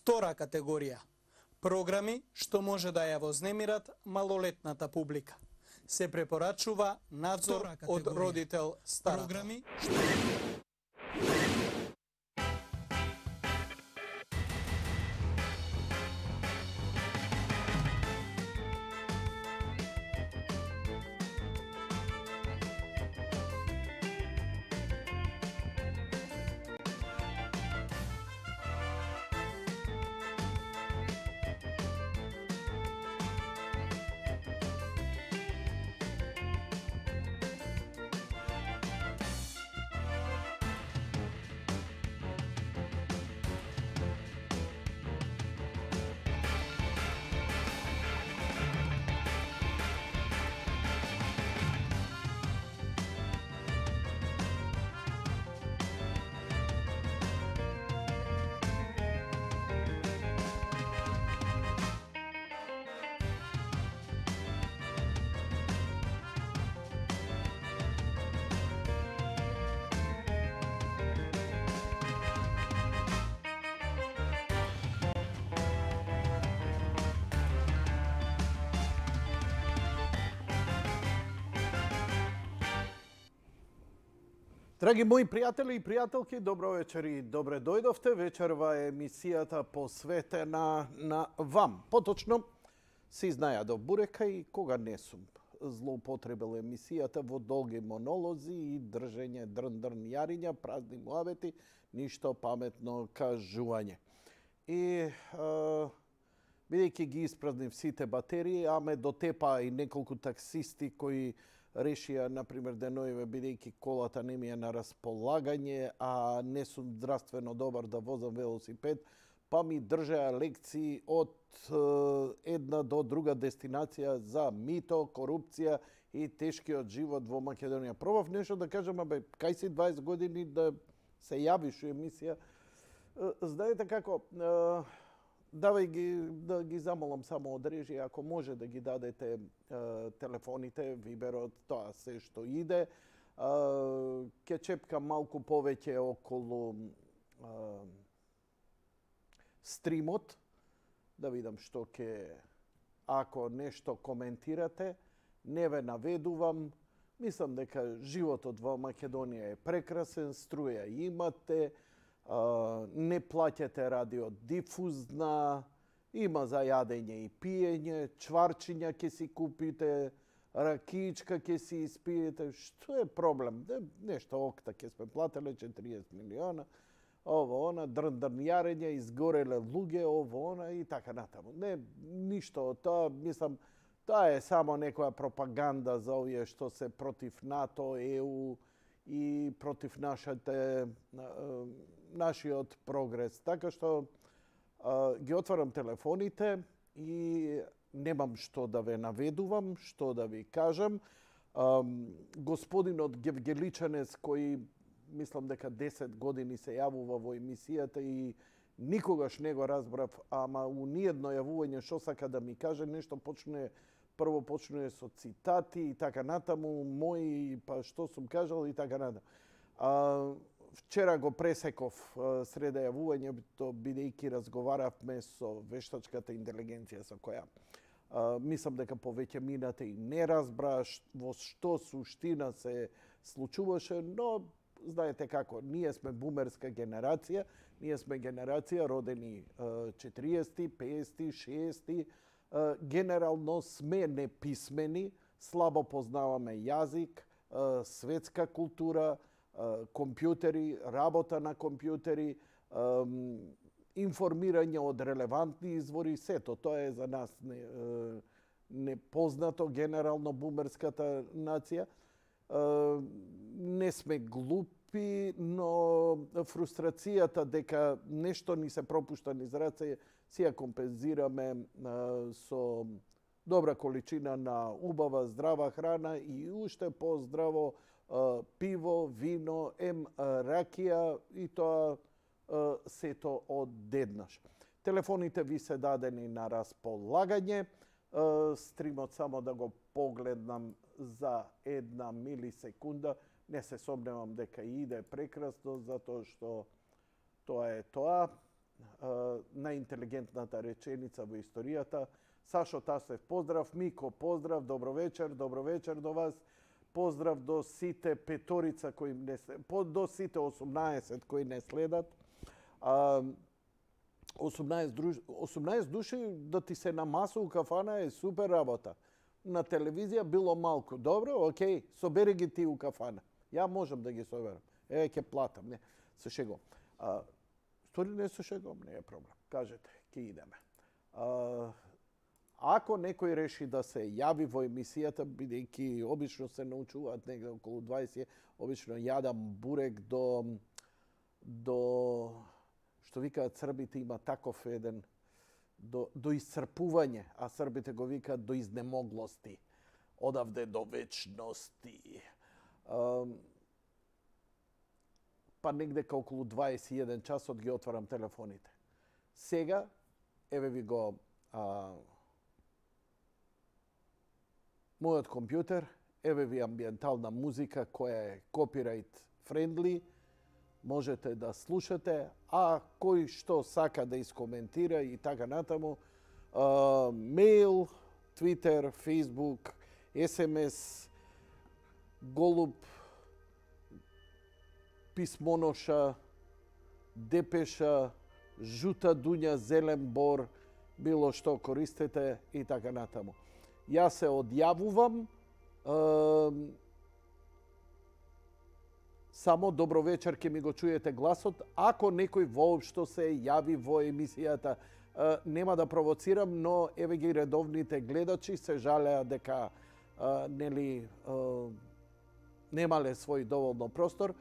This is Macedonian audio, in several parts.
Втора категорија. Програми што може да ја вознемират малолетната публика. Се препорачува надзор од родител старата. Програми Драги мои пријатели и пријателки, добро вечер и добре дојдовте. Вечерва е емисијата посветена на вам. Поточно, си знаја бурека и кога не сум злоупотребил емисијата во долги монолози и држење дрн-дрн јариња, празни муабети, ништо паметно кажување. И бидејќи ги испразнив сите батерии, а ме дотепа и неколку таксисти кои решија, например, деноиве, бидејќи колата не ми е на располагање, а не сум здравствено добар да возам велосипед, па ми држеа лекции од една до друга дестинација за мито, корупција и тешкиот живот во Македонија. Пробав нешто да кажам, кај си 20 години да се јавиш у емисија. Знаете како, давај ги, да ги замолам само од режија, ако може да ги дадете телефоните, виберот, тоа се што иде. Ке чепкам малку повеќе околу стримот, да видам што ке, ако нешто коментирате, не ве наведувам. Мислам дека животот во Македонија е прекрасен, струја имате, не плаќате радиодифузна, има за јадење и пиење, чварчиња ќе си купите, ракичка ќе си испиете. Што е проблем? Нешто окта ќе сме плателе 40 милиона, ово, она, дрн-дрн јарење, изгореле луѓе, ово, она и така натаму. Не, ништо од тоа, мислам, тоа е само некоја пропаганда за овие што се против НАТО, ЕУ и против нашиот прогрес. Така што ги отварам телефоните и немам што да ве наведувам, што да ви кажам. Господинот Гевгеличанес, кој мислам дека 10 години се јавува во емисијата и никогаш не го разбрав, ама у ниедно јавување што сака да ми каже, нешто прво почнува со цитати и така натаму, мои, па што сум кажал и така натаму. Вчера го пресеков среда јавувањето, бидејќи разговаравме со вештачката интелигенција со која мислам дека повеќе минате и не разбра во што суштина се случуваше, но знаете како, ние сме бумерска генерација, ние сме генерација родени 40-ти, 50-ти, 60-ти, генерално сме неписмени, слабо познаваме јазик, светска култура, компјутери, работа на компјутери, информирање од релевантни извори, сето тоа е за нас непознато, генерално бумерската нација. Не сме глупи, но фрустрацијата дека нешто ни се пропушта низ раце, си ја компензираме со добра количина на убава, здрава храна и уште поздраво пиво, вино, ракија и тоа сето одеднаш. Телефоните ви се дадени на располагање. Стримот само да го погледнам за една милисекунда. Не се сомневам дека иде прекрасно, затоа што тоа е тоа. најинтелигентната реченица во историјата. Сашо Тасев, поздрав. Мико, поздрав. Добро вечер до вас. Поздрав до сите петорица кои не до сите 18 кои не следат. 18 души да ти се намасу у кафана е супер работа. На телевизија било малку. Добро, окей, собери ги ти у кафана. Ја можам да ги соберам. Ќе платам, не, се шегом. Стори не се шегом, не е проблем. Кажете, ќе идеме. Ако некој реши да се јави во емисијата, бидејќи обично се научуваат негде околу 20, обично јадам бурек до што викаат србите, има таков еден до исцрпување, а србите го викаат до изнемоглости. Одавде до вечности. Па негдека околу 21 часот ги отварам телефоните. Сега, еве ви го мојот компјутер, еве ви амбиентална музика која е копирајт френдли, можете да слушате, а кој што сака да искоментира и така натаму, мејл, Твитер, Фейсбук, СМС, Голуб, Писмоноша, Депеша, Жута Дуња, Зелен Бор, било што користете и така натаму. Јас се одјавувам, само добро вечер ќе ми го чуете гласот. Ако некој воопшто се јави во емисијата, нема да провоцирам, но еве ги редовните гледачи се жалеа дека нели немале свој доволно простор.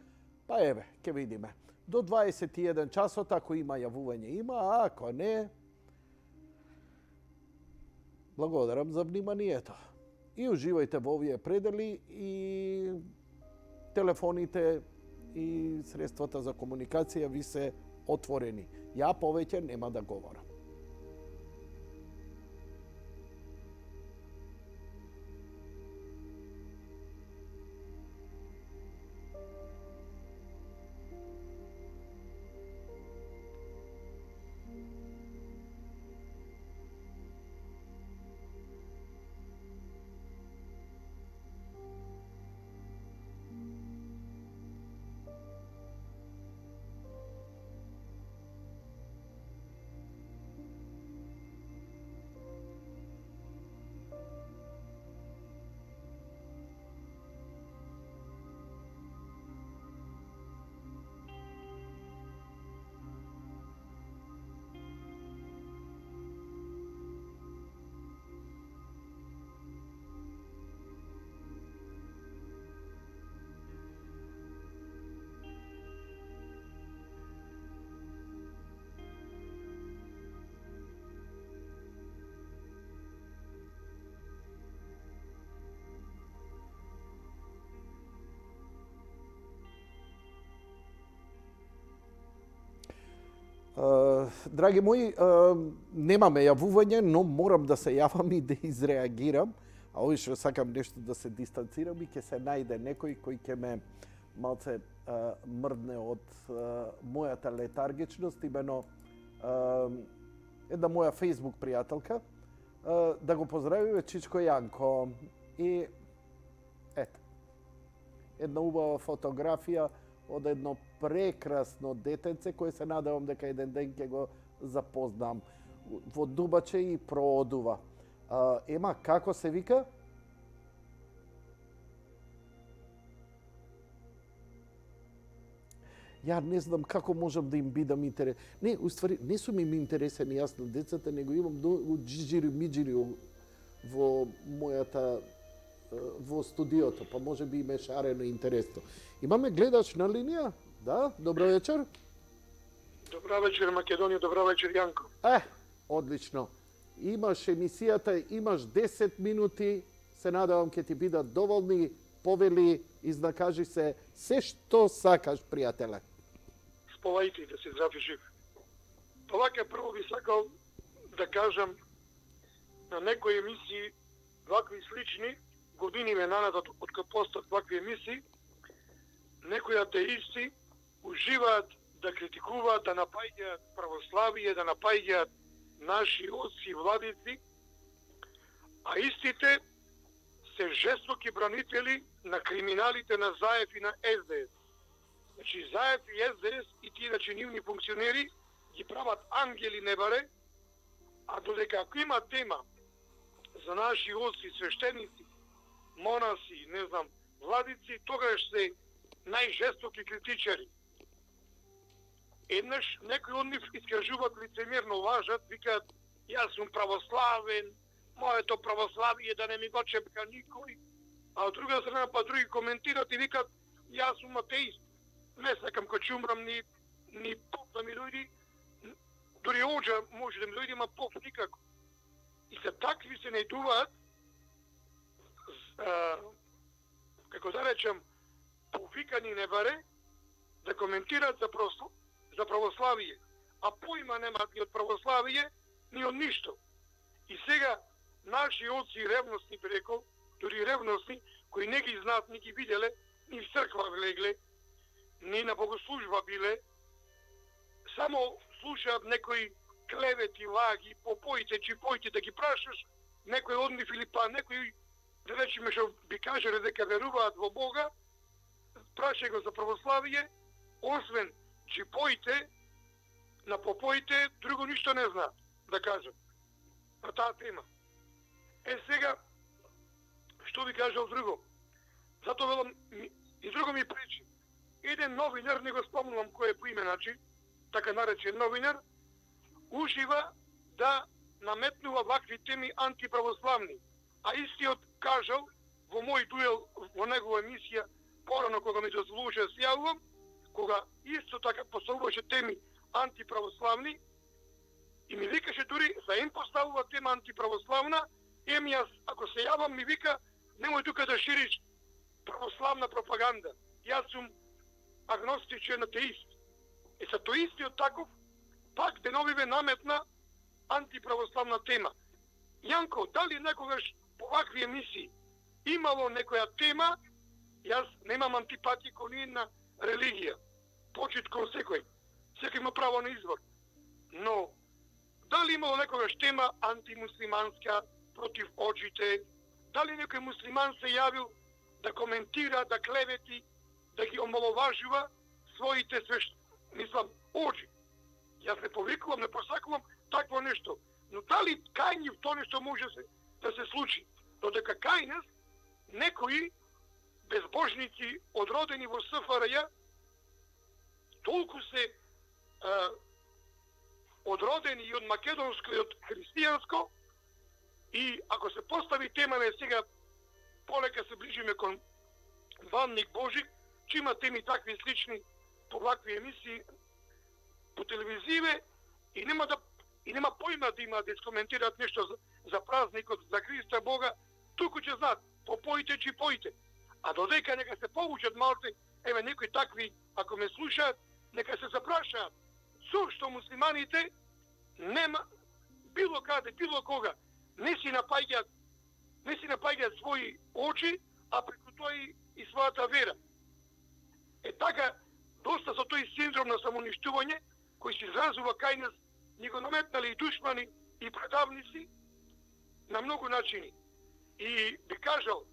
Па еве, ќе видиме. До 21 часот, ако има јавување, има, а ако не, благодарам за вниманието. И уживајте во овие предели и телефоните и средствата за комуникација ви се отворени. Ја повеќе нема да говорам. Драги мои, немаме јавување, но морам да се јавам и да изреагирам. А овој што сакам нешто да се дистанцирам и ќе се најде некој кој ќе ме малце мрдне од мојата летаргичност, имено една моја Facebook пријателка, да го поздравиме Чичко Јанко. И ето, една убава фотографија од едно прекрасно детенце кој се надевам дека еден ден ќе го запознам. Во дубаче и проодува. Ема, како се вика? Ја не знам како можам да им бидам интерес. Не, уствари, не сум им интересен јас на децата, него имам джиджири-миджири во мојата во студиото, па може би им е шарено интересно. Имаме гледач на линија? Да, добро вечер. Добра вечер, Македонија, добра вечер, Јанко. Одлично. Имаш емисијата, имаш 10 минути, се надевам ќе ти бидат доволни, повели, изнакажи се што сакаш, пријателе. Сповајте да се здрави жив. Па вака прво би сакал да кажам на некои емисии вакви слични, години ме нанадат од кога постат вакви емисии, некои атеисти уживаат да критикуваат, да напаѓаат православие, да напаѓаат наши отци и владици, а истите се жестоки бранители на криминалите на Заев и на СДС. Значи, Заев и СДС и тие нивни функционери ги прават ангели небаре, а додека ако има тема за наши отци, свештеници, монаси, не знам, владици, тогаш се најжестоки критичари. Еднаш некои од нив искажуваат лицемерно, лажат, викаат јас сум православен, моето православие да не ми го чепка никој, а од друга страна па други коментират и викаат јас сум атеист. Не сакам кога ќе умрам ни поп да ми дојди, дури оđа може да ми дојде, ма поп никако. И се такви се најдуваат, како да речем, повикани небаре, да коментираат за православие, а поима немаат ни од православие, ни од ништо. И сега наши отци ревностни, би рекол, дури ревностни, кои не ги знаат, ни ги виделе, ни в црква влегле, ни на богослужба биле, само слушаат некои клевети, лаги, попоите, чипоите, да ги прашаш некој од нив или па некој, да речеме што би кажале дека веруваат во Бога, прашај го за православие, освен чипоите, на попоите, друго ништо не знаат, да кажат, на таа тема. Сега, што би кажал друго? Затоа велам, и друго ми пречи. Еден новинар, не го спомнувам кој е по име, значи, така наречен новинар, ужива да наметнува вакви теми антиправославни. А истиот кажал во мој дуел, во негова емисија, порано кога ми дозволуваше да се јавувам, кога исто така поставуваше теми антиправославни, и ми викаше дури, за им поставува тема антиправославна, јас, ако се јавам, ми вика, немој тука да шириш православна пропаганда. Јас сум агностичен атеист. И са тој истиот таков, пак деновиве наметна антиправославна тема. Јанко, дали некогаш по вакви емисии имало некоја тема, јас немам антипатија кон ниједна религија, почит кон секој има право на извор. Но, дали имало некогаш тема антимуслиманска, против оджите, дали некој муслиман се јавил да коментира, да клевети, да ги омаловажува своите оджи. Јас не повикувам, не посакувам такво нешто. Но дали кај нив тоа нешто може да се случи? Додека кај нас некои безбожници одродени во СФРЈ толку се одродени и од македонско и од христијанско, и ако се постави тема сега полека се ближиме кон Банник Божик, че има теми такви слични по вакви емисии по телевизиве и нема поима да има да искоментираат нешто за празникот за Христа Бога, туку ќе знаат попоите, чипоите. А додека нека се повучат малце, еве некои такви, ако ме слушаат, нека се запрашаат. Зошто муслиманите нема било каде, било кога не си напаѓаат своји очи, а преку тоа и својата вера. Така, доста со тој синдром на самоуништување, кој се изразува кај нас, ни го наметнали и душмани, и предавници, на многу начини. И би кажал,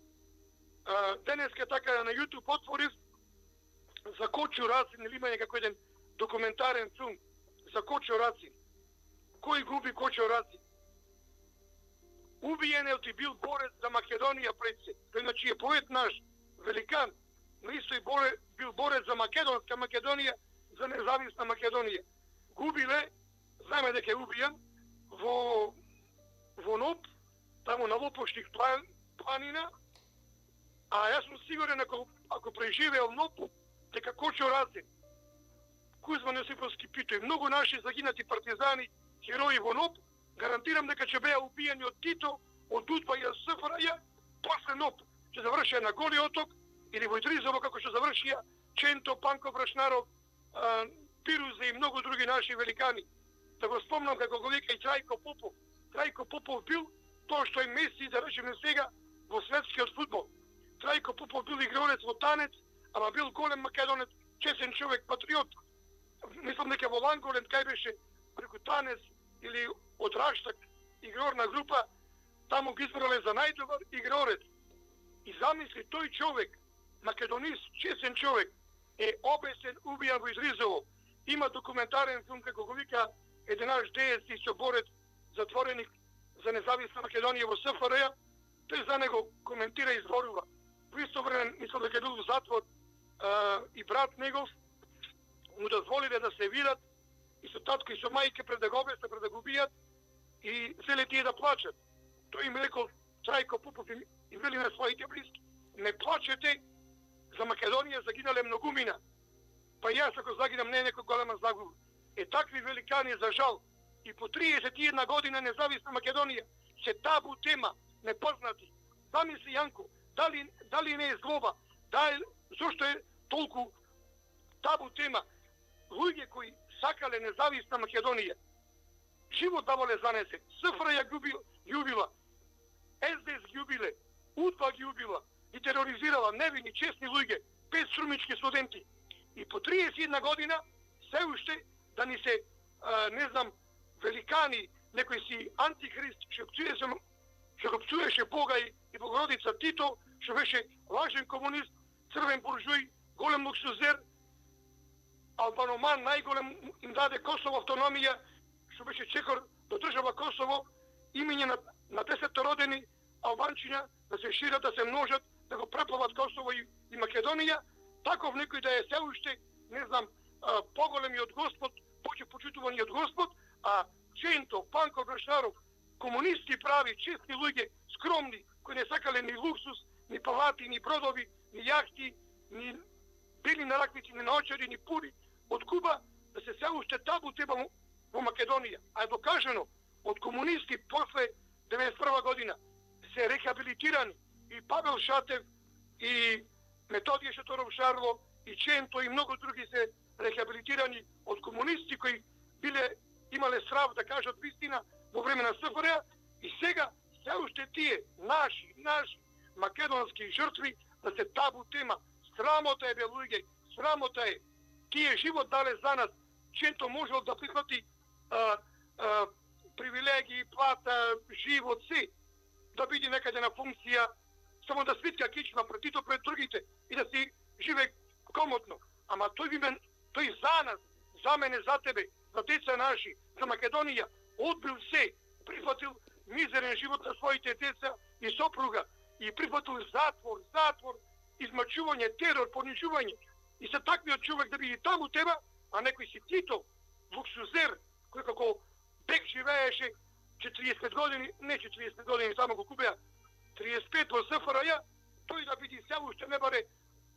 денеска така на YouTube отворив за Кочо Рацин, или има некако еден документарен филм за Кочо Рацин. Кој губи Кочо Рацин? Убиенот и бил борец за Македонија пред се. Тој значи е поет наш, великан, но исто и бил борец за македонска Македонија, за независна Македонија. Губиле, знаеме дека е убиен, во Ноб, таму на Лопошник планина, а јас сум сигурен ако преживеел Ноб, дека Кочо Рацин, Кузман Јосиповски Пито и многу наши загинати партизани, херои во Ноб, гарантирам дека ќе беа убиени од Тито, од УДБА и СФРЈ, после Ноб ќе завршија на Голи оток или во Идризово, како што завршија Ченто, Панко Брашнаров, Пирузе и многу други наши великани. Да го спомнам како го вика и Трајко Попов. Трајко Попов бил тоа што е Меси, да речеме сега, во светскиот фудбал. Трајко Попов бил играорец во танец, ама бил голем македонец, чесен човек, патриот. мислам дека во Ланголен кај беше преку Танес или од Раштак игрорна група, таму ги избрале за најдобар игрорец. И замисли, тој човек, македонист, честен човек, е обесен, убијан во Изризово. Има документарен филм, како го вика еден наш деец и соборец, затвореник за независна Македонија во СФРЈ. Тој за него коментира и зборува. Во исто време, мислам дека бил во затвор и брат негов му дозволиле да се видат и со татко и со мајка пред да го обесне, пред да го убијат и зеле тие да плачат. Тој им рекол, Трајко Попов и вели на своите близки, не плачете, за Македонија загинале многумина. Па јас ако загинам не е некој голема загуба. Такви великани за жал и по 31 година независна Македонија се табу тема, непознати. Замисли Јанко, дали не е злоба, зошто е толку табу тема? Луѓе кои сакале независна Македонија, живот давале занесе, СФРЈ ги убила, СДС ги убиле, УДБА ги убила и тероризирала невини, честни луѓе, 5 штрумички студенти. И по 31 година се уште да ни се, не знам, великани, некој си антихрист, што го пцуеше Бога и Богородица Тито, што беше лажен комунист, црвен буржуј, голем луксузер, албаноман, најголем им даде Косово автономија, што беше чекор до држава Косово, имење на 10 родени албанчиња да се шират, да се множат, да го преплават Косово и Македонија, таков некој да е се уште, не знам, поголеми од Господ, почитувани од Господ, а Чентов, Панко Брашаров, комунисти прави, честни луѓе, скромни, кои не сакале ни луксус, ни палати, ни бродови, ни јахти, ни били на раквици, ни наочари, ни пури, од Куба, да се уште табу тема во Македонија. А е докажено од комунисти после 91 година се рехабилитирани и Павел Шатев, и Методије Шаторов Шарло, и Ченто, и многу други се рехабилитирани од комунисти кои имале срав да кажат вистина во време на СФРЈ, и сега се уште тие наши македонски жртви да се табу тема. Срамота е, бе луѓе, срамота е. Тие живот дале за нас. Ченто можел да прихвати привилегии, плата, живот, се, да биде некаде на функција, само да свитка кичма пред другите и да си живе комотно. Ама тој за нас, за мене, за тебе, за деца наши, за Македонија, одбил се, прифатил мизерен живот на своите деца и сопруга и прифатил затвор, измачување, терор, понижување. И се таквиот човек да биде таму теба, а некој си Тито, луксузер, кој како бек живееше 40 години, не 40 години, само го купеа 35 во СФРЈ, тој да биде се уште не баре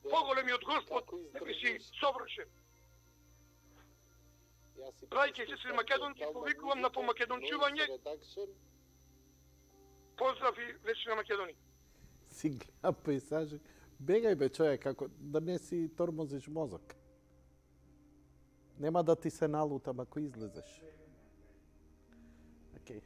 поголеми од Господ, некој си совршен. Брајке и сестри македонци, повикувам на помакедончување. Поздрав и вечна Македонија. Си гледам пейзажи. Бегај бе човек, како да не си тормозиш мозок. Нема да ти се налутам ако излезеш. Океј.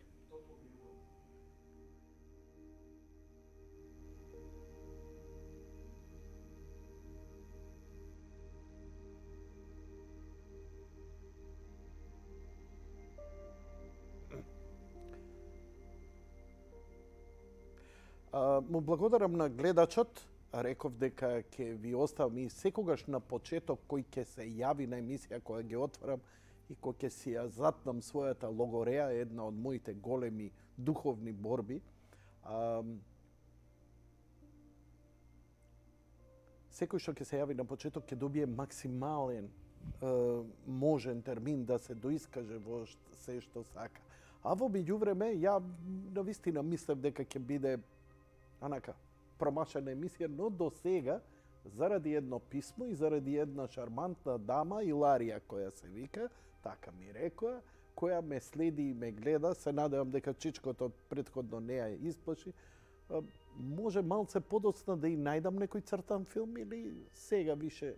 Му благодарам на гледачот. Реков дека ќе ви оставам и секогаш на почеток кој ќе се јави на емисија која ги отварам и кој ќе си ја затнам својата логореја, една од моите големи духовни борби. Секој што ќе се јави на почеток ќе добие максимален можен термин да се доискаже во се што сака. А во меѓувреме ја навистина мислев дека ќе биде анака промашена емисија, но до сега, заради едно писмо и заради една шармантна дама, Иларија, која се вика, така ми рекоа, која ме следи и ме гледа, се надевам дека чичкото предходно не ја исплаши, може малце подоцна да и најдам некој цртан филм или сега више,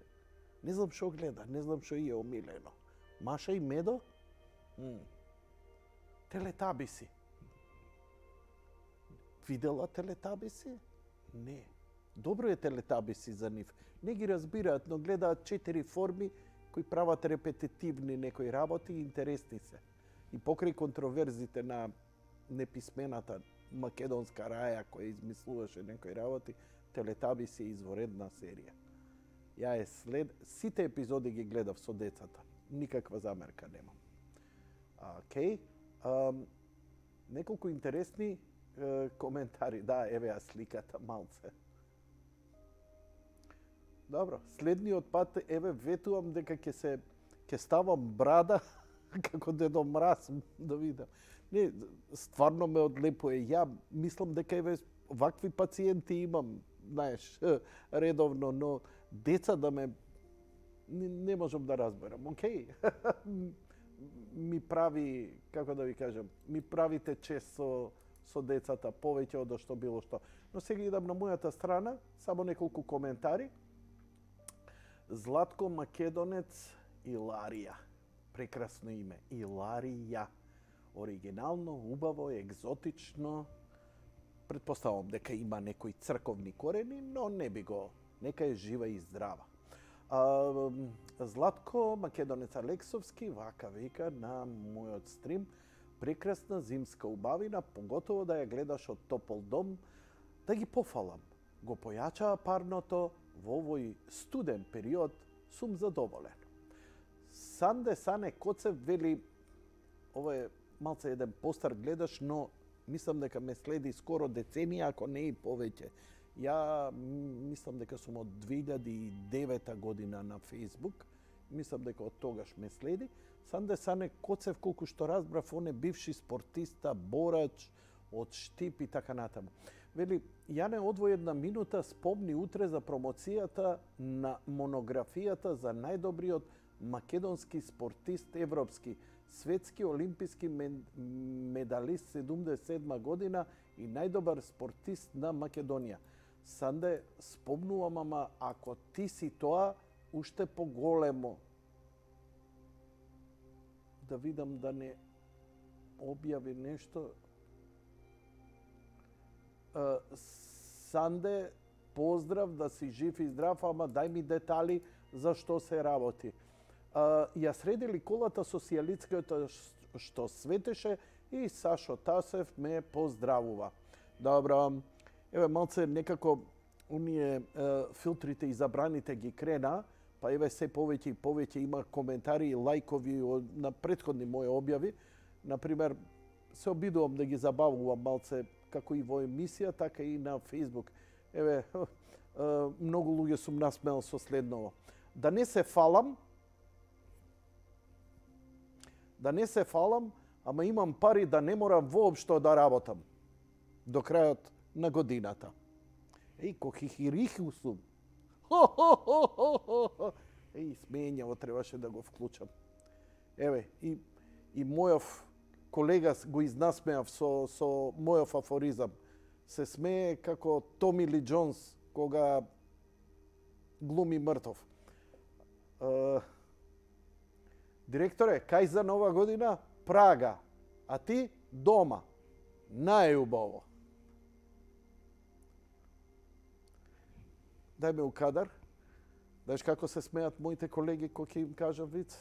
не знам што гледа, не знам што е омилено. Маша и Медо? Телетабиси. Видела Телетабиси? Не. Добро е Телетабиси за нив. Не ги разбираат, но гледаат 4 форми кои прават репетитивни некои работи и интересни се. И покрај контроверзите на неписмената македонска раја која измислуваше некои работи, Телетабис е изворедна серија. Ја сите епизоди ги гледав со децата. Никаква замерка немам. Океј. Неколку интересни коментари. Да, еве ја сликата малце. Добро, следниот пат еве ветувам дека ќе ставам брада како Дедо Мраз да видам. Не, стварно ме одлепува. Ја мислам дека еве вакви пациенти имам, знаеш, редовно, но деца да ме не можам да разберам. Океј. Ми прави, како да ви кажам, ми правите чест со децата повеќе од што било што. Но сега идам на мојата страна, само неколку коментари. Златко Македонец Иларија. Прекрасно име. Иларија. Оригинално, убаво, екзотично. Предпоставам дека има некои црковни корени, но не би го. Нека е жива и здрава. Златко Македонец Алексовски вака вика на мојот стрим. Прекрасна зимска убавина, поготово да ја гледаш од топол дом, да ги пофалам. Го појачаа парното, во овој студен период сум задоволен. Санде Сане Коцев вели, ова е малце еден постар гледаш, но мислам дека ме следи скоро деценија, ако не и повеќе. Ја мислам дека сум од 2009 година на Facebook, мислам дека од тогаш ме следи. Санде Сане Коцев, колку што разбрав, он е бивши спортиста, борач од Штип и така натаму. Вели, ја не одвој една минута, спомни утре за промоцијата на монографијата за најдобриот македонски спортист европски, светски олимписки медалист 77 година и најдобар спортист на Македонија. Санде, спомнувам, ама ако ти си тоа, уште поголемо. Да видам да не објави нешто. Санде, поздрав, да си жив и здрав, ама дај ми детали за што се работи. Ја средили колата социјалистската што светеше и Сашо Тасев ме поздравува. Добро, еве малце некако оние филтрите и забраните ги крена, па еве се повеќе и повеќе има коментари и лајкови на претходни мои објави. Например, се обидувам да ги забавувам малце како и во емисија, така и на Facebook. Еве, многу луѓе сум насмеал со следново. Да не се фалам, ама имам пари да не морам воопшто да работам до крајот на годината. Еј, ко хихириху сум. Еј, смењаво требаше да го вклучам. Еве, и мојов колега го изнасмеав со мојов афоризам. Се смее како Томи Ли Джонс кога глуми мртов. Директоре, кај за нова година? Прага. А ти? Дома. Најубаво. Дај ме у кадар. Знаеш како се смеат моите колеги кога ќе им кажам виц?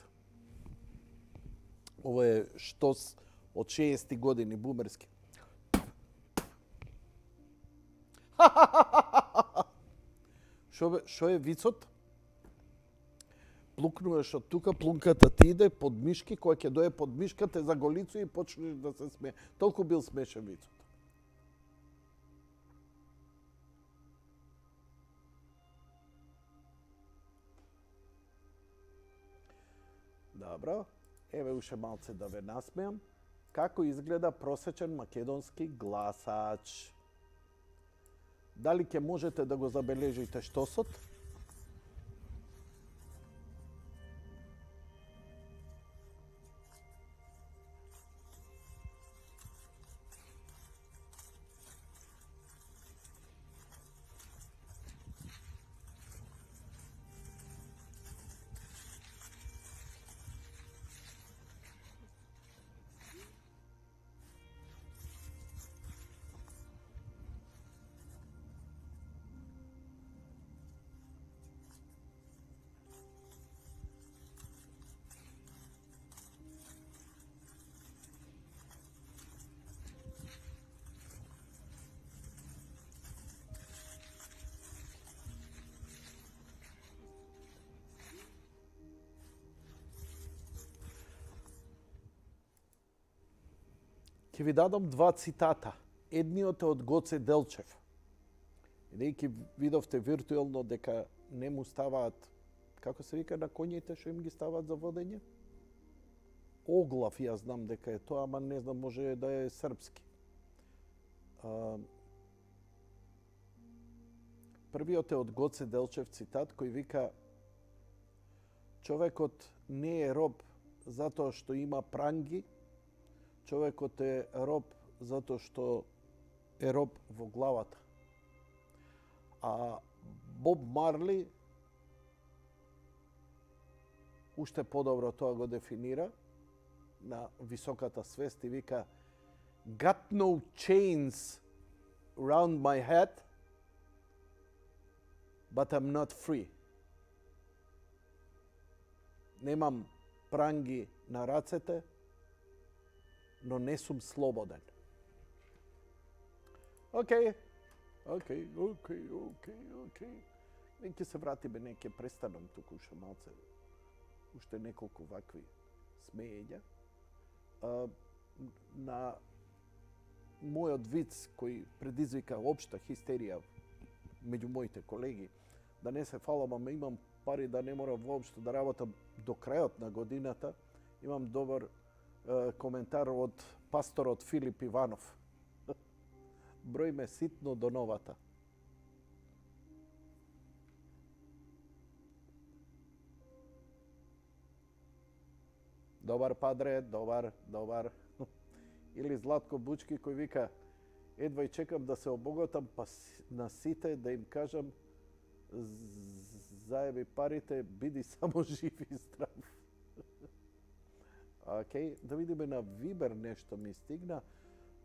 Ова е штос од 60 години бумерски. Шо е вицот? Плукнуваш од тука, плунката ти иде под мишки, која ќе дое под мишката за голицу и почнеш да се смее. Толку бил смешен вицот. Добро, еве уште малце да ве насмеам. Како изгледа просечен македонски гласач? Дали ќе можете да го забележите штосот? Ќе ви дадам два цитата. Едниот е од Гоце Делчев. Бидејќи видовте виртуелно дека не му ставаат, како се вика на коњите што им ги ставаат за водење? Оглав, јас знам дека е тоа, ама не знам, може да е српски. Првиот е од Гоце Делчев цитат кој вика: човекот не е роб затоа што има пранги, човекот е роб затоа што е роб во главата. А Боб Марли уште подобро тоа го дефинира на високата свест и вика: Got no chains round my head, but I'm not free. Немам пранги на рацете, но не сум слободен. Океј. Неќе се вратиме, неќе престанам туку уште малце. Уште неколку вакви смеења. На мојот виц кој предизвика општа хистерија меѓу моите колеги, да не се фалам, ама имам пари да не морам воопшто да работам до крајот на годината, имам добар коментар од пасторот Филип Иванов. Број ме ситно до новата. Добар, падре, добар. Или Златко Бучки кој вика: едва и чекам да се обогатам, па на сите да им кажам: заеби парите, биди само жив и здрав. Океј, да видиме на Вибер нешто ми стигна.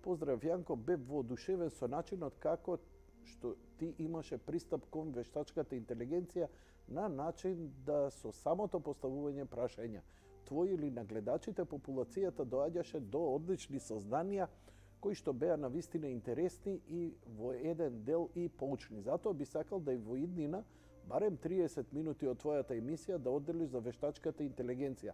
Поздрав Јанко, бев воодушевен со начинот како што ти имаше пристап кон вештачката интелигенција на начин да со самото поставување прашања твој или на гледачите популацијата доаѓаше до одлични сознанија кои што беа навистина интересни и во еден дел и поучни. Затоа би сакал да и во иднина барем 30 минути од твојата емисија да одделиш за вештачката интелигенција.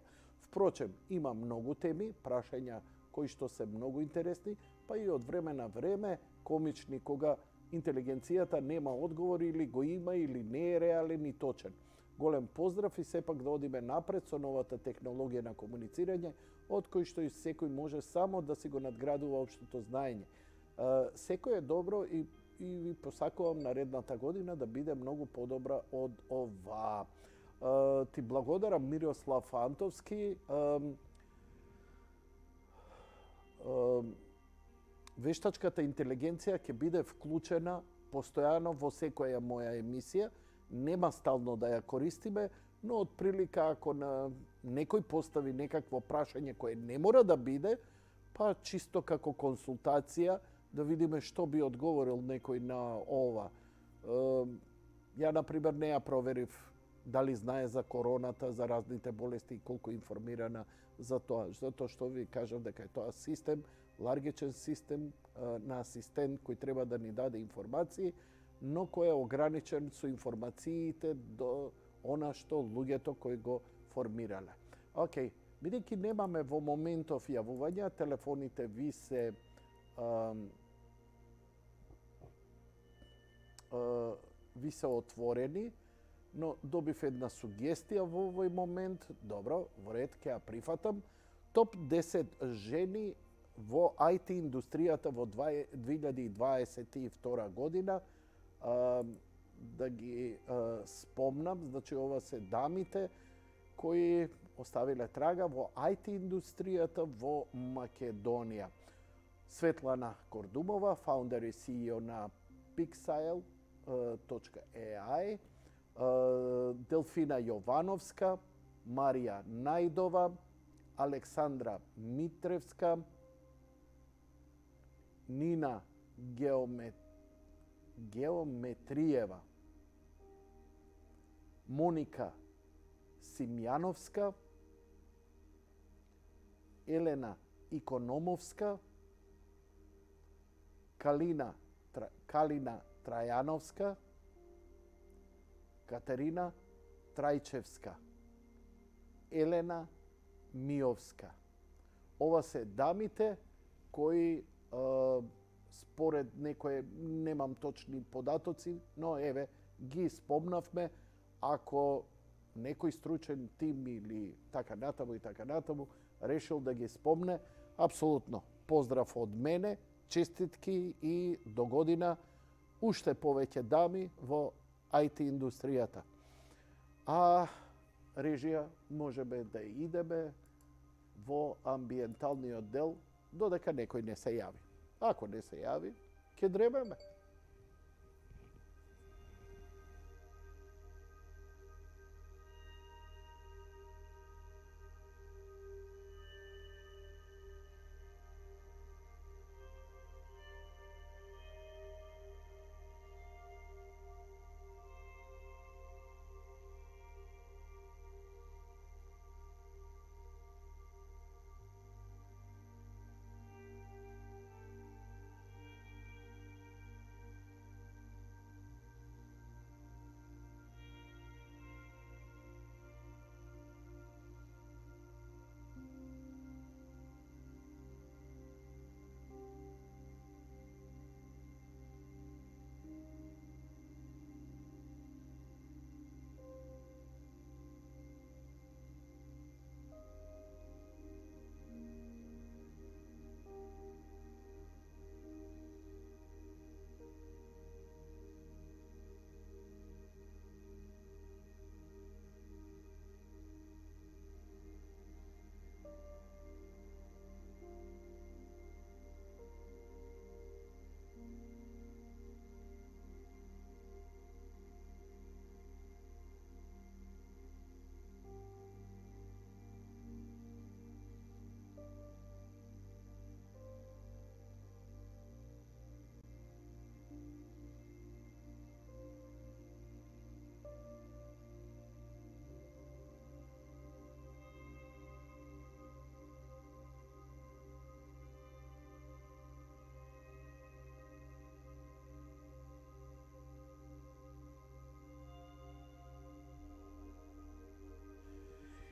Впрочем, има многу теми, прашања кои што се многу интересни, па и од време на време комични кога интелигенцијата нема одговор или го има или не е реален и точен. Голем поздрав и сепак да одиме напред со новата технологија на комуницирање, од кој што и секој може само да си го надградува општото знаење. Секој е добро и ви посакувам наредната година да биде многу подобра од ова. Ти благодарам, Мирослав Антовски. Вештачката интелигенција ќе биде вклучена постојано во секоја моја емисија. Нема стално да ја користиме, но од прилика ако на некој постави некакво прашање кое не мора да биде, па чисто како консултација да видиме што би одговорил некој на ова. Ја, например, не ја проверив дали знае за короната, за разните болести и колку информирана за тоа. Затоа што ви кажав дека е тоа систем, ларгичен систем на асистент кој треба да ни даде информации, но кој е ограничен со информациите до она што луѓето кои го формирале. Океј, бидејќи немаме во моментов јавувања, телефоните ви се отворени, но добив една сугестија во овој момент. Добро, во ред, ќе ја прифатам. Топ 10 жени во IT индустријата во 2022 година. Да ги спомнам, значи ова се дамите кои оставиле трага во IT индустријата во Македонија. Светлана Кордумова, фаундер и CEO на Pixile.ai, Делфина Јовановска, Марија Најдова, Александра Митревска, Нина Геометриева, Моника Симјановска, Елена Икономовска, Калина Трајановска, Катерина Трајчевска, Елена Миовска. Ова се дамите кои според некои, немам точни податоци, но еве, ги спомнавме, ако некој стручен тим или така натаму решил да ги спомне, апсолутно поздрав од мене, честитки и до година уште повеќе дами во IT индустријата. А режија можеме да идеме во амбиенталниот дел додека некој не се јави. Ако не се јави, ќе дребеме.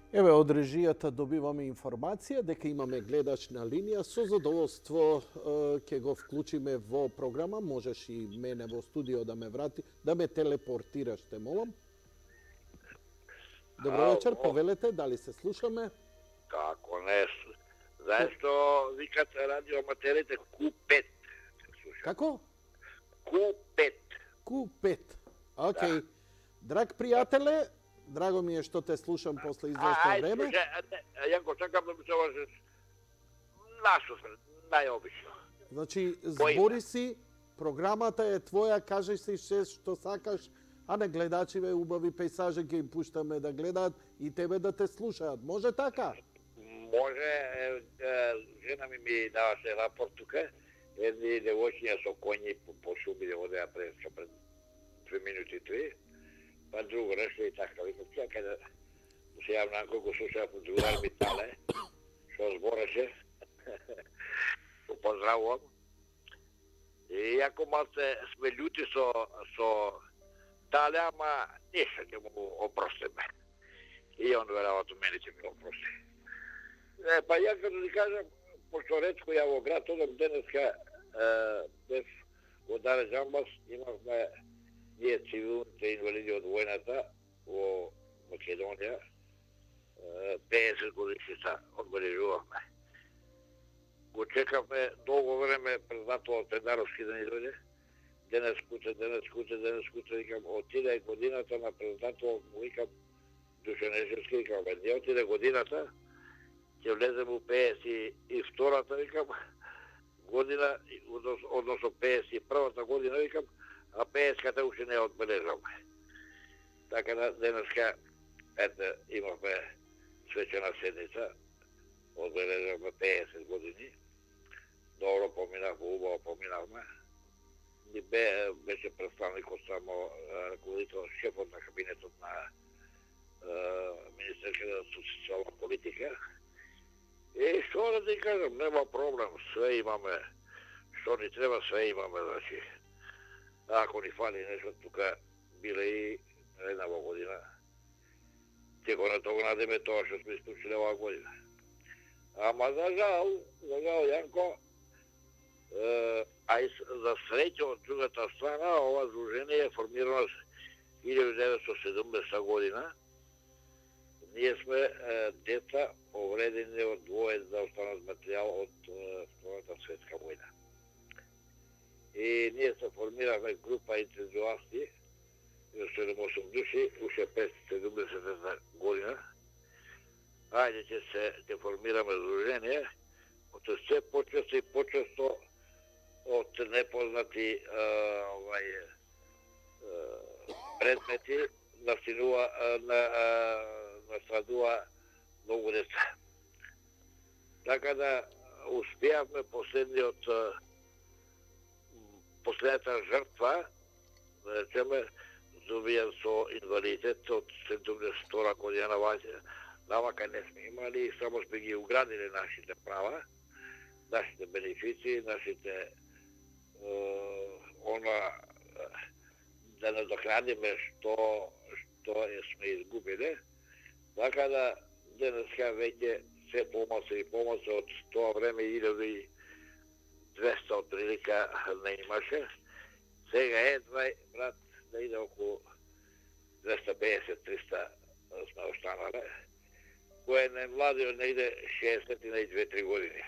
Еве, од режијата добиваме информација дека имаме гледач на линија. Со задоволство ќе го вклучиме во програма. Можеш и мене во студио да ме врати, да ме телепортираш, те молам. Добро вечер, повелете, дали се слушаме? Како не, заешто викат радиоаматерите Q5. Како? Q5. Q5. Океј. Драг пријателе, драго ми е што те слушам после известно време. Јанко, сакам да ми се обажеш нашо, најобично. Значи, збори си, програмата е твоја, кажи си што сакаш, а не гледачиве убави пейсажи ќе им пуштаме да гледаат и тебе да те слушаат. Може така? Може, жена ми даваше рапорт тука, едни девојчиња со коњи по шуми одеа пред 3 минути 3. Па друго реши и така, викам, чекај да се јавна колку слушав од другар ми Тале, што збореше, го поздравувам. И јако малце сме љути со Тале, ама нешто ќе му опростиме. И он веројатно мене ќе ми опрости. Па ја като ти кажам, пошто ретко ја во град, одам денеска без во Даре Джамбас, имавме ние цивилните инвалиди од војната во Македонија, 50 годишница одбележувавме. Го чекавме долго време пред затоа Пендаровски да ни дојде. Денес куце, викам, отиде годината на председател, му викам, Душанешевски, викам, не отиде годината, ќе влезем у 52-та, викам, година, односно 51-та година, викам, а 50-ката уште не одбележавме. Така да денеска, ете, имавме свечена седница, одбележавме 50 години. Добро поминавме, убаво поминавме. И беше представникот само ръководител, шефот на кабинетот на министерката за социјална политика. И што да ти кажам, нема проблем, све имаме, што ни треба, све имаме, значи. Ако ни фали нешто, тука биле и една година. Ќе го надогнадиме тоа што сме исклучили оваа година. Ама за жал, Јанко, А и за среќа од другата страна, ова здружение е формирано 1970 година. Ние сме деца повредени од воен за останат материјал од Втората светска војна. И ние се формираме група ентузиасти, 7-8 души, уште 570 година. Ајде ќе формираме здружение, од се почесто и почесто од непознати предмети настрадува многу деца. Така да успеавме последната жртва, да речеме, добијан со инвалидитет од 72 година навака не сме имали и само сме ги уградили нашите права, нашите бенефиции, нашите да надокнадиме што сме изгубили. Така да денеска веќе се помоци од тоа време 1200 од прилика не имаше. Сега едва, брат, да иде околу 250-300 сме останале, кој најмладиот не иде 60 и нај 2-3 години.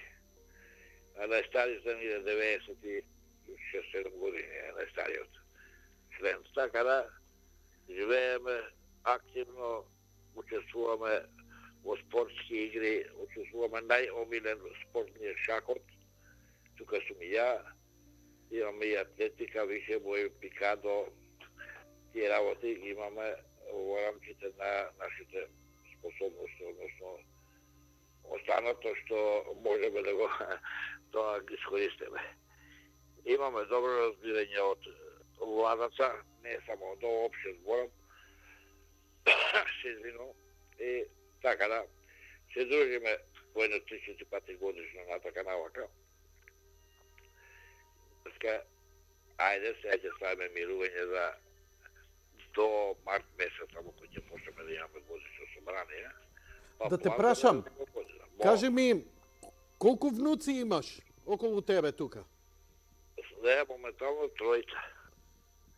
А најстариот не иде 96-7 години, најстариот член. Така да живееме активно, учествуваме во спортски игри, учествуваме најомилен спортниот шахот. Тука сум и ја, имаме и атлетика, више бој, пикадо, тие работи имаме во рамките на нашите способности, односно останато што можеме да го тоа ги искористиме. Имаме добро разбирање од владаца, не само од општен зборам, се извинувам, и така да се дружиме по 1-3 пати годишно на така навака. Ајде, сега ќе ставиме мирување за до март месец, само кој ќе почнеме да имаме годишно собрание. Да те прашам, кажи ми, колку внуци имаш околу тебе тука? Не, моментално тројца.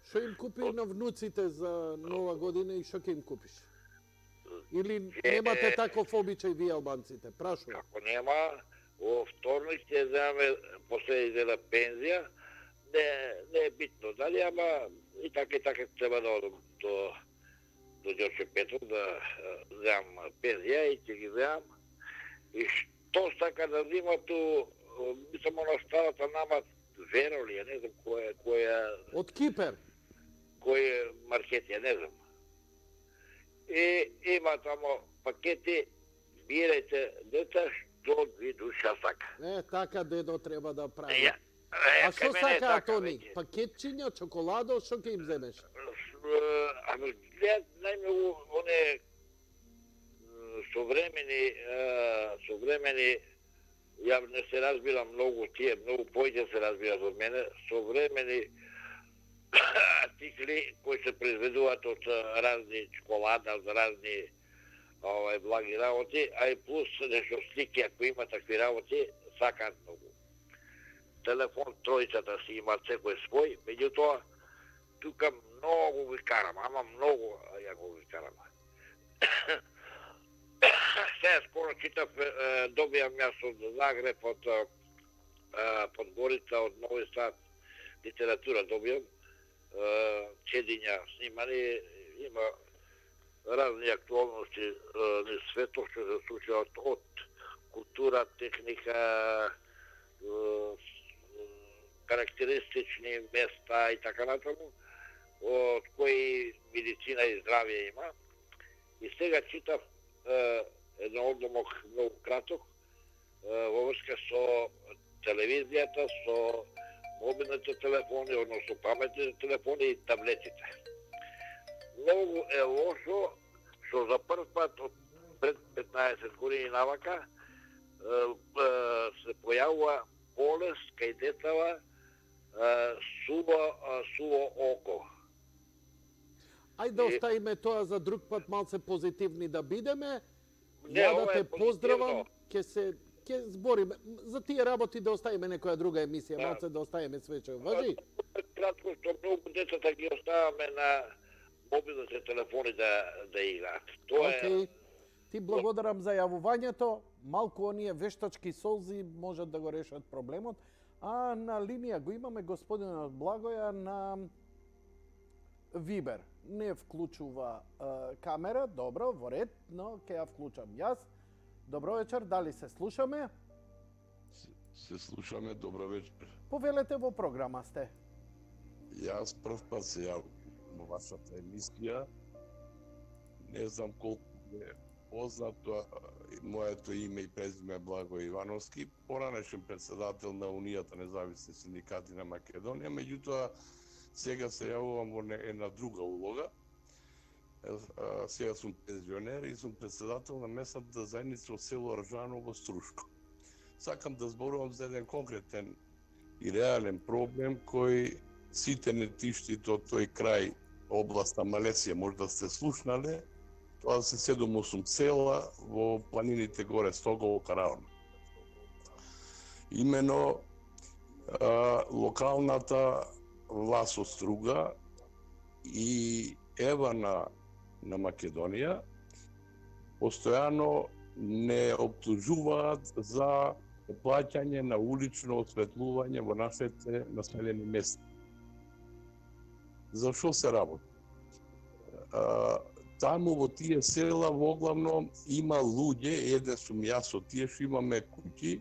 Што им купи на внуците за нова година и што ќе им купиш? Или немате таков обичај вие албанците? Прашувам. Ако нема, во вторник ќе земаме последна пензија. Не е битно дали, ама и така треба да одам до Ѓорче Петров да земам пензија и ќе ги земам. И што сака да взима ту, само на старата нама Веро ли, не знам која... Од Кипер? Кој маркет, не знам. И има тамо пакети, бирајте деца, што ви душа сака. Така дедо треба да прави. А што сака Антони? Пакетчиња, чоколадо, што ќе им земеш? Ами, гледат најмногу оне современи, ја не се разбирам многу тие, многу поќе се разбират од мене, современи артикли кои се произведуваат од разни чоколада, од разни благи работи, а и плюс нешто слики, ако има такви работи, сакаат многу. Телефон тројцата си имат секој свој, меѓутоа тука многу ги карам, ама многу ја го ги карам. Сега скоро читав, добијам јас од Загреб, од Подгорица, од Нови Сад, литература добијам, чедиња снимани, има разни актуалности на светот што се случуваат од култура, техника, карактеристични места и така натаму, од кои медицина и здравје има. И сега читав едно одломок многу краток во врска со телевизијата, со мобилните телефони, односно паметните телефони и таблетите. Многу е лошо што за прв пат од пред 15 години навака се појавува болест кај децава суво око. Ајде да оставиме тоа за друг пат, малце позитивни да бидеме. Ја да те поздравам, ќе се ќе збориме. За тие работи да оставиме некоја друга емисија, малце да оставиме свече. Важи? Кратко, што многу децата ги оставаме на мобилните телефони да играат. Тоа е... Ти благодарам за јавувањето. Малку оние вештачки солзи можат да го решат проблемот. А на линија го имаме господинот Благоја на Вибер. Не вклучува камера, добро, во ред, но ќе ја вклучам јас. Добро вечер, дали се слушаме? Се слушаме, добро вечер. Повелете, во програма сте. Јас прв пат се јавувам во вашата емисија. Не знам колку е познато, моето име и презиме Благој Ивановски, поранешен председател на Унијата независни синдикати на Македонија, меѓутоа сега се јавувам во една друга улога. Сега сум пензионер и сум председател на местната заедница од село Ржано во Струшко. Сакам да зборувам за еден конкретен и реален проблем кој сите не тиштите од тој крај областа Малесија можда сте слушнале. Тоа се 7-8 села во планините горе Стогово, Караон. Имено локалната власт од Струга и Ева на Македонија постојано не обтужуваат за плаќање на улично осветлување во нашите населени места. За што се работи? Таму во тие села воглавно има луѓе, еден сум јас од тие што имаме куќи,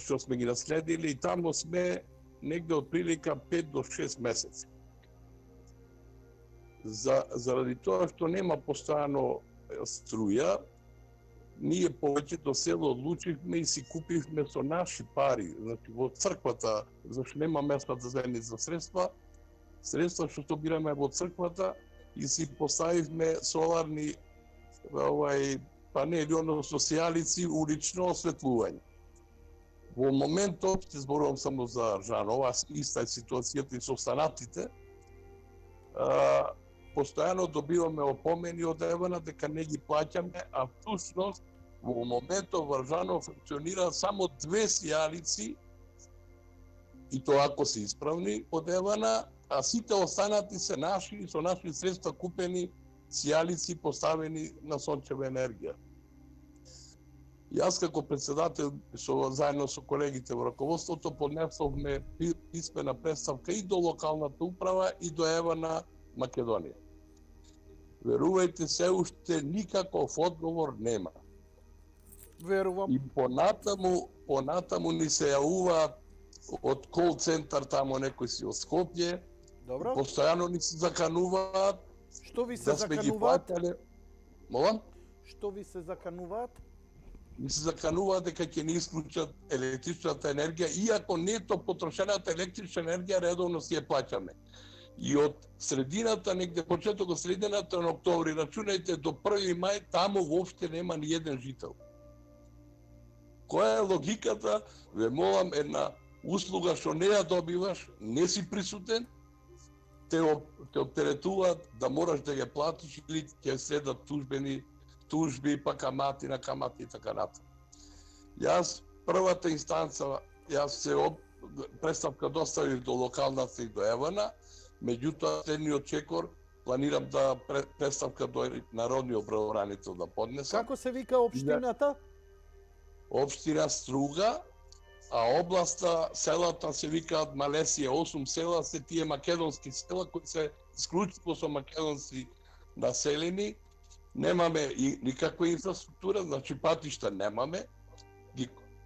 што сме ги наследили и таму сме негде од прилика 5 до 6 месеци. Заради тоа што нема постојано струја, ние повеќето село одлучивме и си купивме со наши пари, значи во црквата, зашто нема местната заедница средства што собираме во црквата и си поставивме соларни панели, односно сијалици, улично осветлување. Во моментот, ќе зборувам само за Ржано, ова иста е ситуацијата и со останатите, постојано добиваме опомени од Евана дека не ги плаќаме, а всушност во моментот во Ржано функционираат само 2 сијалици, и тоа ако се исправни од Евана, а сите останати се наши, со наши средства купени сијалици поставени на сончева енергија. Јас како председател заедно со колегите во раководството поднесовме писмена представка и до локалната управа и до Ева на Македонија. Верувајте, се уште никаков одговор нема. Верувам. И понатаму ни се јавуваат од кол центар тамо некој си од Скопје. Добро. Постојано ни се закануваат. Што ви се закануваат? Молам? Што ви се закануваат? Ни се закануваат дека ќе ни исклучат електричната енергија, иако нето потрошената електрична енергија редовно си ја плаќаме. И од средината, негде почетокот средината на октомври, рачунајте до 1 мај, таму воопште нема ни еден жител. Која е логиката? Ве молам, една услуга што не ја добиваш, не си присутен, те оптеретуваат да мораш да ја платиш или ќе следат тужби, па камати на камати и така натаму. Јас првата инстанца, јас се представка доставив до локалната и до Евана, меѓутоа следниот чекор планирам да представка до народниот правобранител да поднесам. Како се вика општината? Општина Струга, а областа, селата се викаат Малесија, 8 села се тие македонски села кои се исклучиво со македонски населени. Немаме и никаква инфраструктура, значи патишта немаме.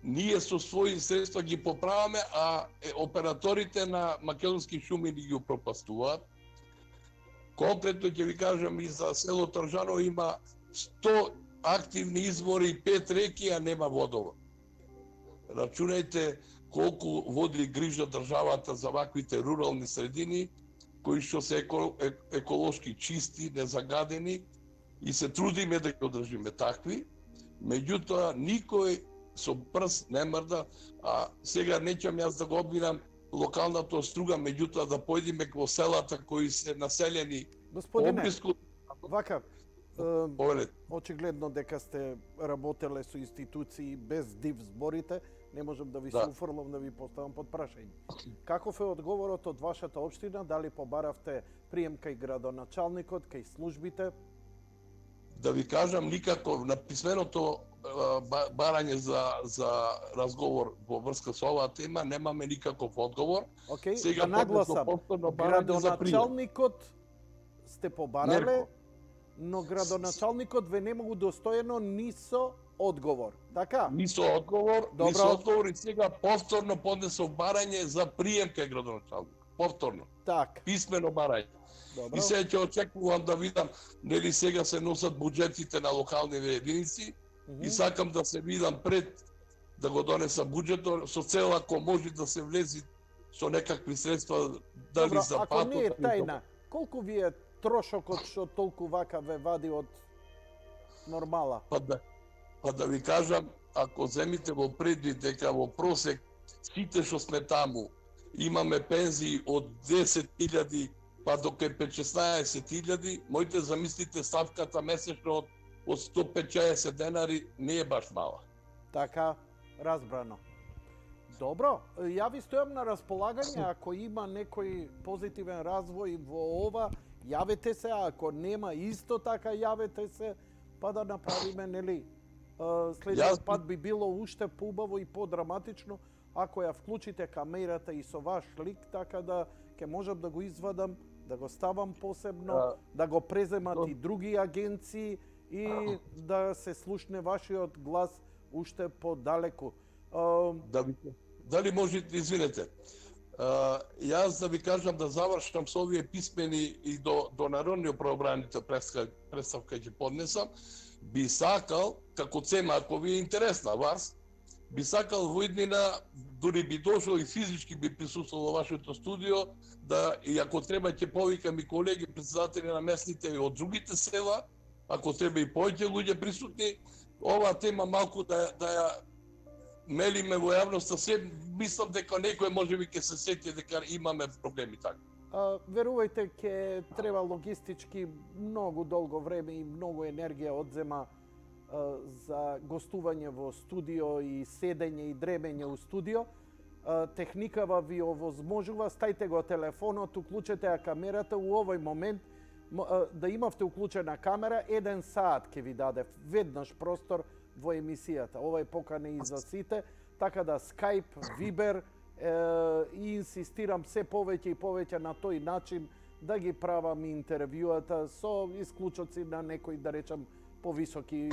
Ние со своји средства ги поправаме, а операторите на македонски шуми ни ги упропастуваат. Конкретно ќе ви кажам и за село Ржано има 100 активни извори и 5 реки, а нема водовод. Рачунајте колку води грижа државата за ваквите рурални средини, кои што се еколошки чисти, незагадени, и се трудиме да ги одржиме такви, меѓутоа никој со прст не мрда, а сега неќам јас да го обвинам локалната Струга, меѓутоа да појдеме во селата кои се населени. Господине, вака, очигледно дека сте работеле со институции без див зборите, не можам да ви се уфрлам да ви поставам под прашање. Каков е одговорот од вашата општина? Дали побаравте прием кај градоначалникот, кај службите? Да ви кажам, никако на писменото барање за разговор во врска со оваа тема немаме никаков одговор. Сега да нагласам, градоначалникот сте побарале, но градоначалникот ве нема удостоено ни со одговор, така? Ни со одговор, ни со одговор и сега повторно поднесов барање за прием кај градоначалник. Повторно. Так. Писмено барање. Добро. И сега ќе очекувам да видам нели сега се носат буџетите на локалните единици и сакам да се видам пред да го донесам буџетот со цел ако може да се влези со некакви средства дали добро, за патот. Ако не е тајна, колку ви е трошокот што толку вака ве вади од нормала? Па да ви кажам, ако земите во предвид дека во просек сите што сме таму имаме пензии од 10.000 па до кај 5-16.000, моите замислите ставката месечно од 150 денари не е баш мала. Така, разбрано. Добро, ја ви стојам на располагање, ако има некој позитивен развој во ова, јавете се, а ако нема исто така јавете се, па да направиме, нели, следниот пат би било уште поубаво и подраматично, ако ја вклучите камерата и со ваш лик, така да ќе можам да го извадам, да го ставам посебно, да го преземат и други агенции и да се слушне вашиот глас уште подалеку. Дали можете, извинете, јас да ви кажам да завршам со овие писмени и до народниот правобранител представка ќе поднесам, би сакал, како цема, ако ви е интересна вас, би сакал во иднина, дури би дошол и физички би присуствувал во вашето студио, да, и ако треба ќе повикам и колеги председатели на местните и од другите села, ако треба и повеќе луѓе присутни, оваа тема малку да ја мелиме во јавноста, се мислам дека некој можеби ќе се сети дека имаме проблеми така. Верувајте, ќе треба логистички многу долго време и многу енергија одзема за гостување во студио и седење и дремење у студио. Техникава ви овозможува, стајте го телефонот, уклучете ја камерата у овој момент, да имавте уклучена камера, 1 саат ќе ви даде веднаш простор во емисијата. Ова е покана и за сите, така да Skype, Viber и инсистирам се повеќе и повеќе на тој начин да ги правам интервјуата со исклучоци на некои, да речам, повисоки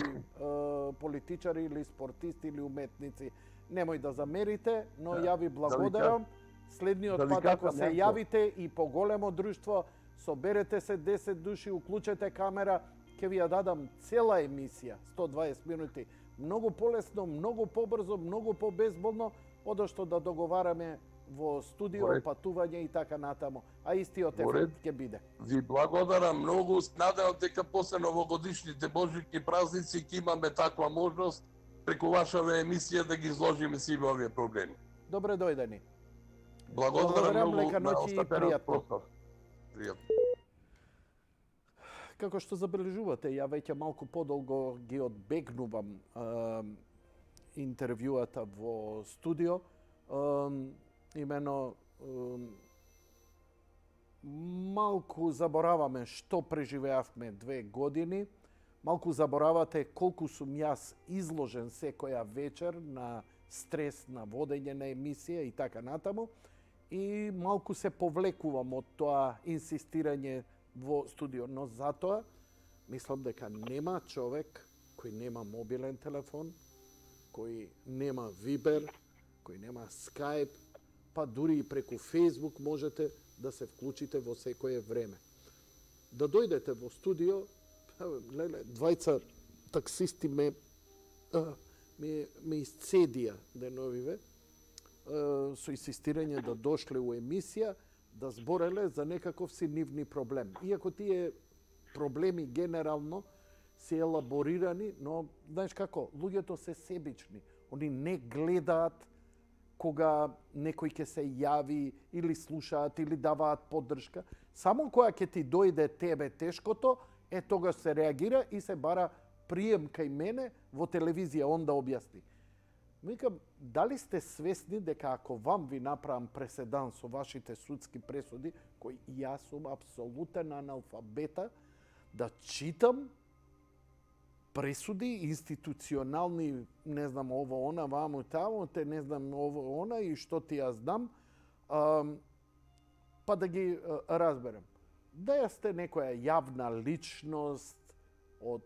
политичари или спортисти или уметници. Немој да замерите, но ја ви благодарам. Следниот пат ако се јавите и по големо друштво, соберете се 10 души, уклучете камера, ќе ви ја дадам цела емисија, 120 минути. Многу полесно, многу побрзо, многу побезболно, одошто да договараме во студио, патување и така натаму. А истиот ефект ќе биде. Ви благодарам многу. Надевам дека после новогодишните божички празници ќе имаме таква можност преку вашава емисија да ги изложиме сите овие проблеми. Добре дојдени. Благодарам многу. Лека ноќ и пријатно. Пријатно. Како што забележувате, ја веќе малку подолго ги одбегнувам интервјуата во студио. Имено малку забораваме што преживеавме 2 години. Малку заборавате колку сум јас изложен секоја вечер на стрес, на водење на емисија и така натаму. И малку се повлекувам од тоа инсистирање во студио, но затоа мислам дека нема човек кој нема мобилен телефон, кој нема Viber, кој нема Skype, па дури и преку Facebook можете да се вклучите во секое време. Да дојдете во студио, леле, двајца таксисти ме исцедија деновиве со инсистирање да дошле у емисија, да збореле за некаков си нивни проблем. Иако тие проблеми генерално се елаборирани, но знаеш како, луѓето се себични. Они не гледаат кога некој ќе се јави или слушаат или даваат поддршка. Само кога ќе ти дојде тебе тешкото, тогаш се реагира и се бара прием кај мене во телевизија, он да објасни. Викам, дали сте свесни дека ако вам ви направам преседан со вашите судски пресуди, кои јас сум апсолутен аналфабета, да читам пресуди институционални, не знам, ово, она, ваму, таму, те не знам, ово, она и што ти ја знам, па да ги разберем. Да ја сте некоја јавна личност од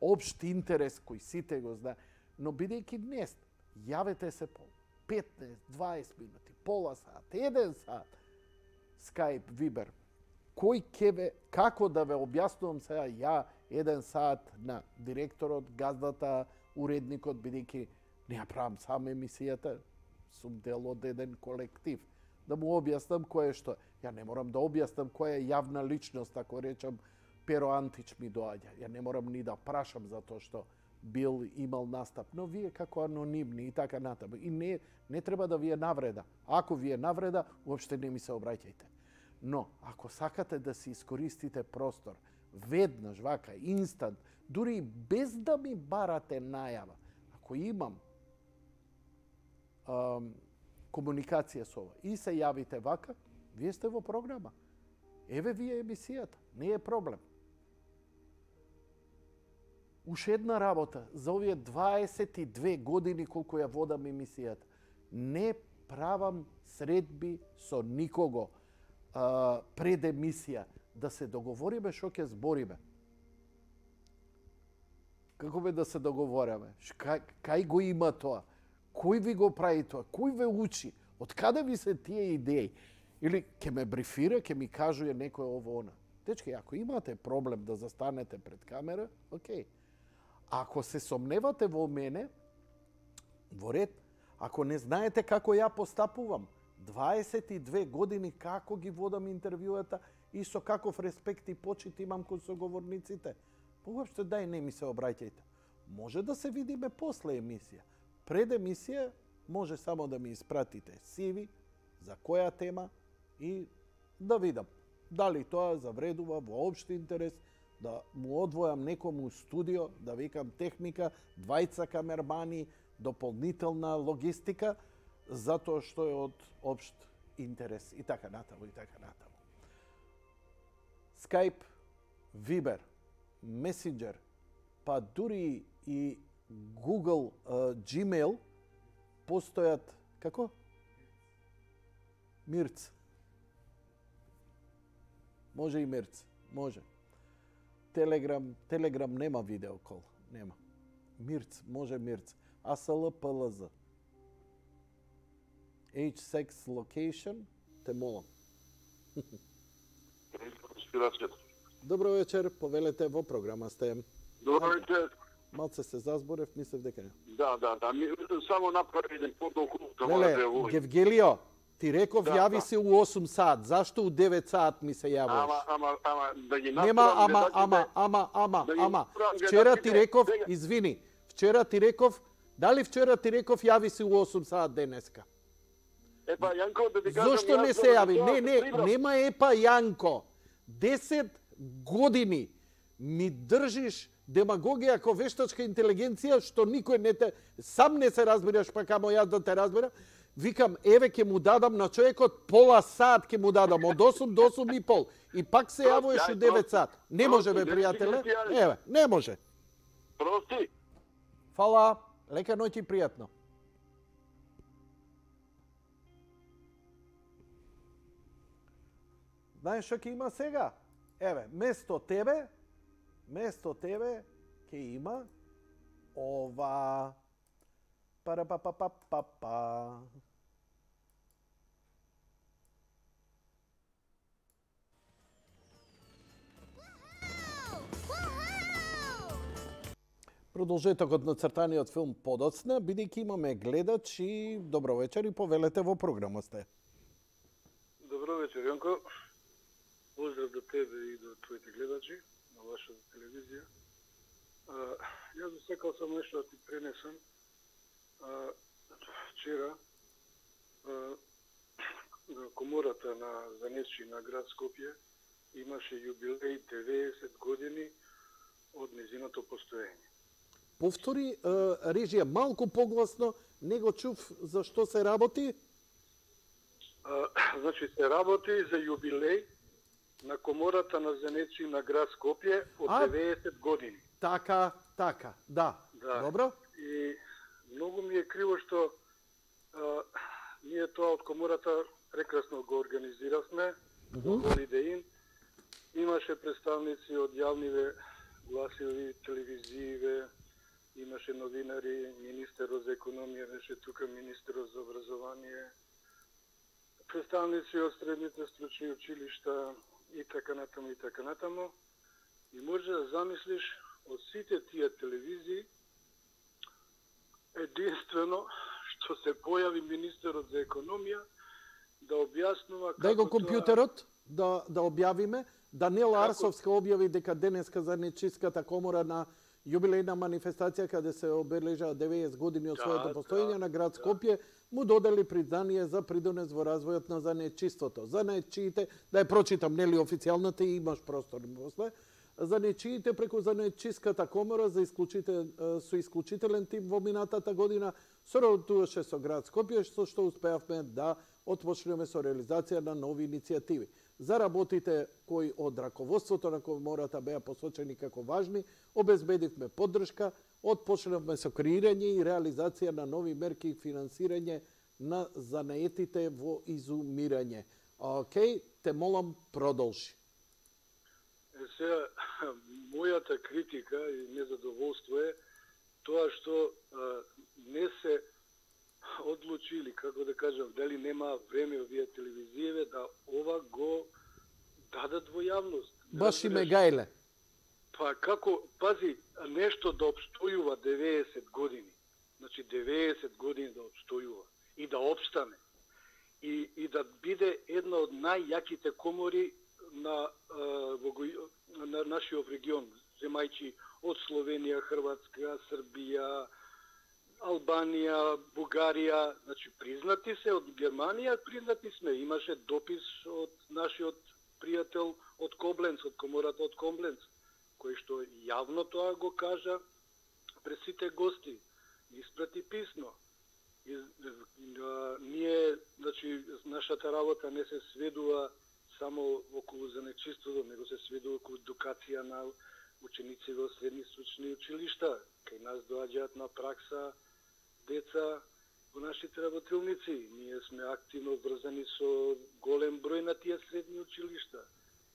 општ интерес кој сите го знае, но бидејќи не сте, јавете се по 15-20 минути, пола сат, 1 сат, Skype, Viber. Кој ке ве, како да ве објаснувам сега ја 1 сат на директорот, газдата, уредникот, бидејќи не ја правам сам емисијата, сум дел од еден колектив. Да му објаснам кој е што. Ја не морам да објаснам која е јавна личност, ако речам Перо Антич ми доаѓа. Ја не морам ни да прашам за тоа што бил имал настап, но вие како анонимни и така натаму. И не треба да ви е навреда. Ако ви е навреда, уопште не ми се обраќајте. Но, ако сакате да си искористите простор, веднаш, вака, инстант, дури без да ми барате најава, ако имам комуникација со ова и се јавите вака, вие сте во програма. Еве вие емисијата, не е проблем. Уште една работа, за овие 22 години колку ја водам емисијата, не правам средби со никого пред емисија, да се договориме што ќе збориме. Како бе да се договориме? Кај го има тоа? Кој ви го прави тоа? Кој ве учи? Од каде ви се тие идеи? Или ќе ме брифира, ќе ми кажува некој ово она. Дечки, ако имате проблем да застанете пред камера, окей. Ако се сомневате во мене, во ред, ако не знаете како ја постапувам, 22 години како ги водам интервјуата и со каков респект и почит имам кон соговорниците, уопште дај не ми се обраќајте. Може да се видиме после емисија. Пред емисија може само да ми испратите CV, за која тема и да видам дали тоа завредува во општи интерес, да му одвојам некому студио, да викам техника, 2 камермани, дополнителна логистика, затоа што е од општ интерес и така натаму и така натаму. Skype, Viber, Messenger, па дури и Google Gmail постојат како? Мирц. Може и Мирц, може. Телеграм нема видеокол, нема. Мирц, може Мирц. ASL PLZ. H6 location, те молам. Добро вечер, повелете во програма сте. Добро вечер. Малце се зазборев, мислев дека не. Да. Само направи еден подолг. Леле, Евгелио, ти реков јави се у 8 сат. Зашто у 9 сат ми се јавуваш? Ама, да ги нема ама. Вчера ти реков, извини, дали вчера ти реков јави се у 8 сат денеска? Епа, Јанко, да ти кажам... Зошто не се јави? Нема епа, Јанко. 10 години ми држиш демагогија како вештачка интелигенција, што никој не те... Сам не се разбираш, па камо јас да те разбирам. Викам, еве ќе му дадам на човекот пола сат ќе му дадам, од 8 до 8 и пол. И пак се јавуваш у 9 сат. Не може, бе, пријателе. Еве, не може. Прости. Фала. Лека ноќ и пријатно. Знаеш што ќе има сега? Еве, место тебе ќе има ова. Пара-па-па-па-па-па. Продолжетокот на цртаниот филм подоцна, бидејќи имаме гледачи. Добро вечер и повелете во програма сте. Добро вечер, Јанко. Поздрав до тебе и до твоите гледачи на вашата телевизија. Јас засекал сам нешто да ти пренесам. Вчера комората на Занесчи на град Скопје имаше јубилеј 90 години од незиното постоење. Повтори, режија, малку погласно, не го чув за што се работи? Значи, се работи за јубилеј на Комората на занечи на град Скопје од 90 години. Така, да. Добро. И многу ми е криво што ние тоа од Комората прекрасно го организиравме, Holiday Inn. Имаше представници од јавниве гласиви, телевизииве, имаше новинари, министерот за економија беше тука, министерот за образование, представници од средните стручни училишта и така натаму. И може да замислиш од сите тие телевизии, единствено што се појави министерот за економија да објаснува како Дај го компјутерот да објавиме. Даниела Арсовска објави дека денеска за Нечиската комора на јубилејна манифестација каде се обележаа 90 години од своето постоење на град Скопје, му додели признание за придонес во развојот на занечиството. Занечиите, да ја прочитам, нели официјалната, и имаш простор после. Занечиите преку Занечиската комора со исклучителен тим во минатата година соработуваше со град Скопје, што успеавме да отпочнеме со реализација на нови иницијативи. За работите кои од раководството на комората беа посочени како важни, обезбедивме поддршка, отпочнавме со креирање и реализација на нови мерки и финансирање на занаетите во изумирање. Океј, те молам, продолжи. Сега, мојата критика и незадоволство е тоа што не се одлучили, како да кажам, дали нема време овие телевизијеве да ова го дадат во јавност. Баш и ме гајле. Па како, пази, нешто да обстојува 90 години. Значи 90 години да обстојува и да обстане. И да биде една од најјаките комори на нашиот регион, земајќи од Словенија, Хрватска, Србија, Албанија, Бугарија, значи признати се од Германија, признати сме. Имаше допис од нашиот пријател од Кобленц, од комората од Кобленц, кој што јавно тоа го кажа пред сите гости, испрати писмо. Ние, значи, нашата работа не се сведува само околу занечиството, него се сведува околу едукација на ученици во средни стручни училишта. Кај нас доаѓаат на пракса деца во нашите работилници. Ние сме активно врзани со голем број на тие средни училишта.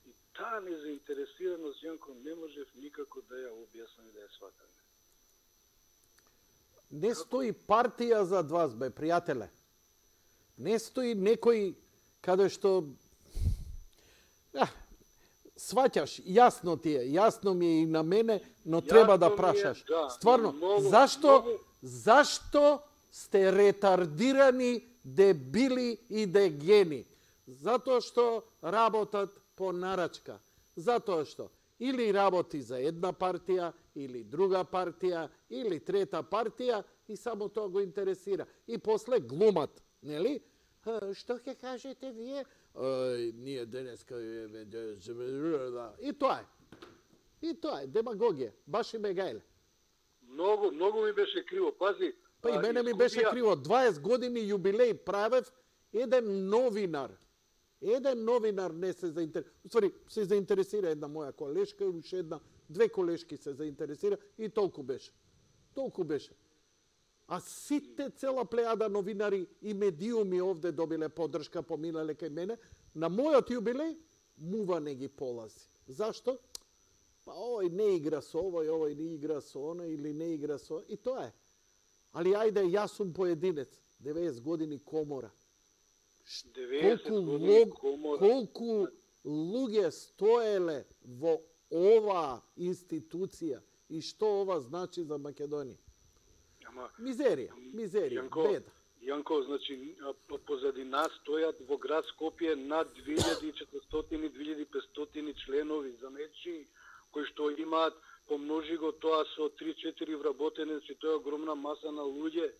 И таа незаинтересираност, Јанко, не можев никако да ја објаснам и да ја сватам. Не стои партија зад вас, бе, пријателе. Не стои некој каде што... сваќаш, јасно ти е, јасно ми е и на мене, но треба да прашаш. Стварно, зашто сте ретардирани, дебили и дегени? Затоа што работат по нарачка. Затоа што или работи за една партија, или друга партија, или трета партија и само тоа го интересира. И после глумат, нели? Што ќе кажете вие? Ние денеска... И тоа е. И тоа е, демагогија. Баш и ме гајле. Многу ми беше криво, пази. Па и мене ми беше криво. 20 години јубилеј правев, еден новинар не се заинтересира. Уствари, се заинтересира една моја колешка, уште две колешки се заинтересира и толку беше. А сите цела плејада новинари и медиуми овде добиле поддршка, поминале кај мене. На мојот јубилеј мува не ги полази. Зашто? Па овој не игра со овој не игра со оној, или не игра со... И тоа е. Али ајде, јас сум поединец. 90 години комора. Колку луѓе стоеле во оваа институција и што ова значи за Македонија? Мизерија, беда. Јанко, значи, позади нас стојат во град Скопје над 2400-2500 членови занечи, кои што имаат, помножи го тоа со 3-4 вработени, значи тоа е огромна маса на луѓе.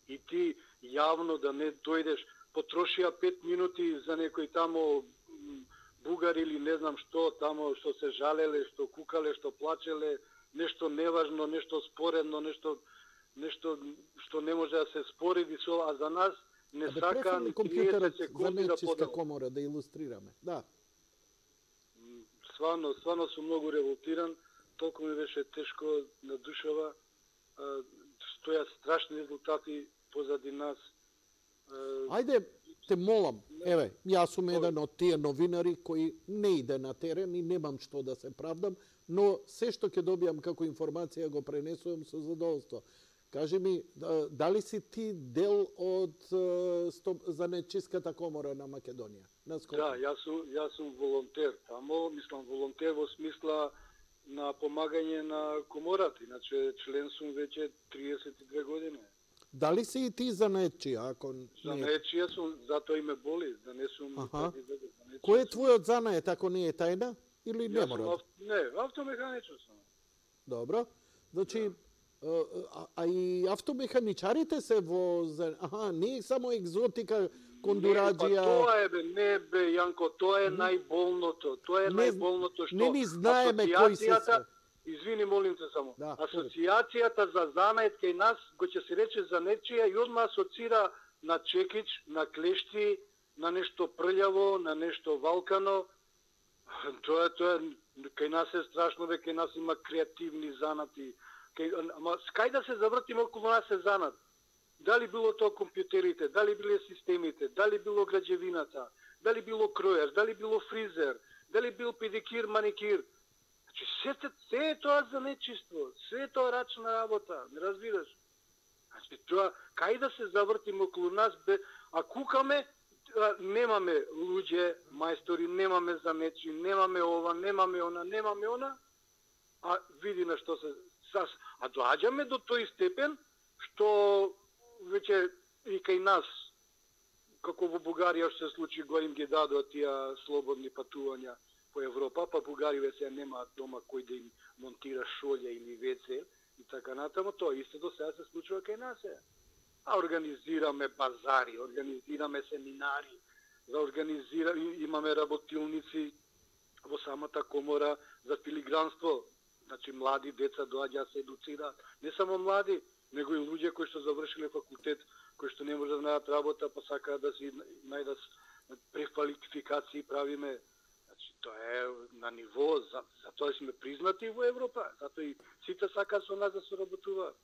И ти јавно да не дојдеш, потрошија 5 минути за некој тамо бугари или не знам што, тамо што се жалеле, што кукале, што плачеле, нешто неважно, нешто споредно, нешто што не може да се спореди со, а за нас не сака ни 30 секунди да подава. Комора, да илустрираме. Да. Свано сум многу револтиран, толку ми беше тешко на душава, стојат страшни резултати позади нас. Ајде, те молам, еве, јас сум еден од тие новинари кои не иде на терен и немам што да се правдам, но се што ќе добијам како информација го пренесувам со задоволство. Кажи ми, дали си ти дел од Занечиската комора на Македонија? Да, јас сум волонтер тамо, мислам волонтер во смисла на помагање на комората, иначе член сум веќе 32 години. Дали си и ти занечија? Занечија сум, затоа и ме боли, да не сум... Кој е твојот занает, ако не е тајна? Или не мора? Не, автомеханичар сум. Добро. Значи, а и автомеханичарите се во... не е само екзотика, кондураджија... Не бе, Јанко, тоа е најболното. Тоа е најболното што... Не ни знаеме кои се се... Извини, молим те само. Да, Асоцијацијата за занает кај нас, го ќе се рече занечија, и одма асоцира на чекич, на клешти, на нешто прљаво, на нешто валкано. Тоа кај нас е страшно, бе, кај нас има креативни занати. Ама кај да се завртиме околу нас е занат? Дали било тоа компјутерите, дали биле системите, дали било граđевината, дали било кројар, дали било фризер, дали бил педикир, маникир. Значи, се е тоа за нечиство, се е тоа рачна работа, не разбираш? Значи, тоа, кај да се завртиме околу нас, а кукаме, немаме луѓе, мајстори, немаме занечи, немаме ова, немаме она, а види на што се... А доаѓаме до тој степен, што веќе и кај нас, како во Бугарија што се случи, го им ги дадоа тие слободни патувања по Европа, па Бугариве се немаат дома кој да им монтира шолја или WC и така натаму, тоа истото сега се случува кај нас. А организираме базари, организираме семинари, имаме работилници во самата комора за филигранство. Значи, млади деца доаѓаат се едуцираат. Не само млади, него и луѓе кои што завршиле факултет, кои што не може да најдат работа, па сакаат да си најдат преквалификации правиме. Значи, тоа е на ниво, затоа сме признати во Европа, затоа и сите сакаат со нас да соработуваат.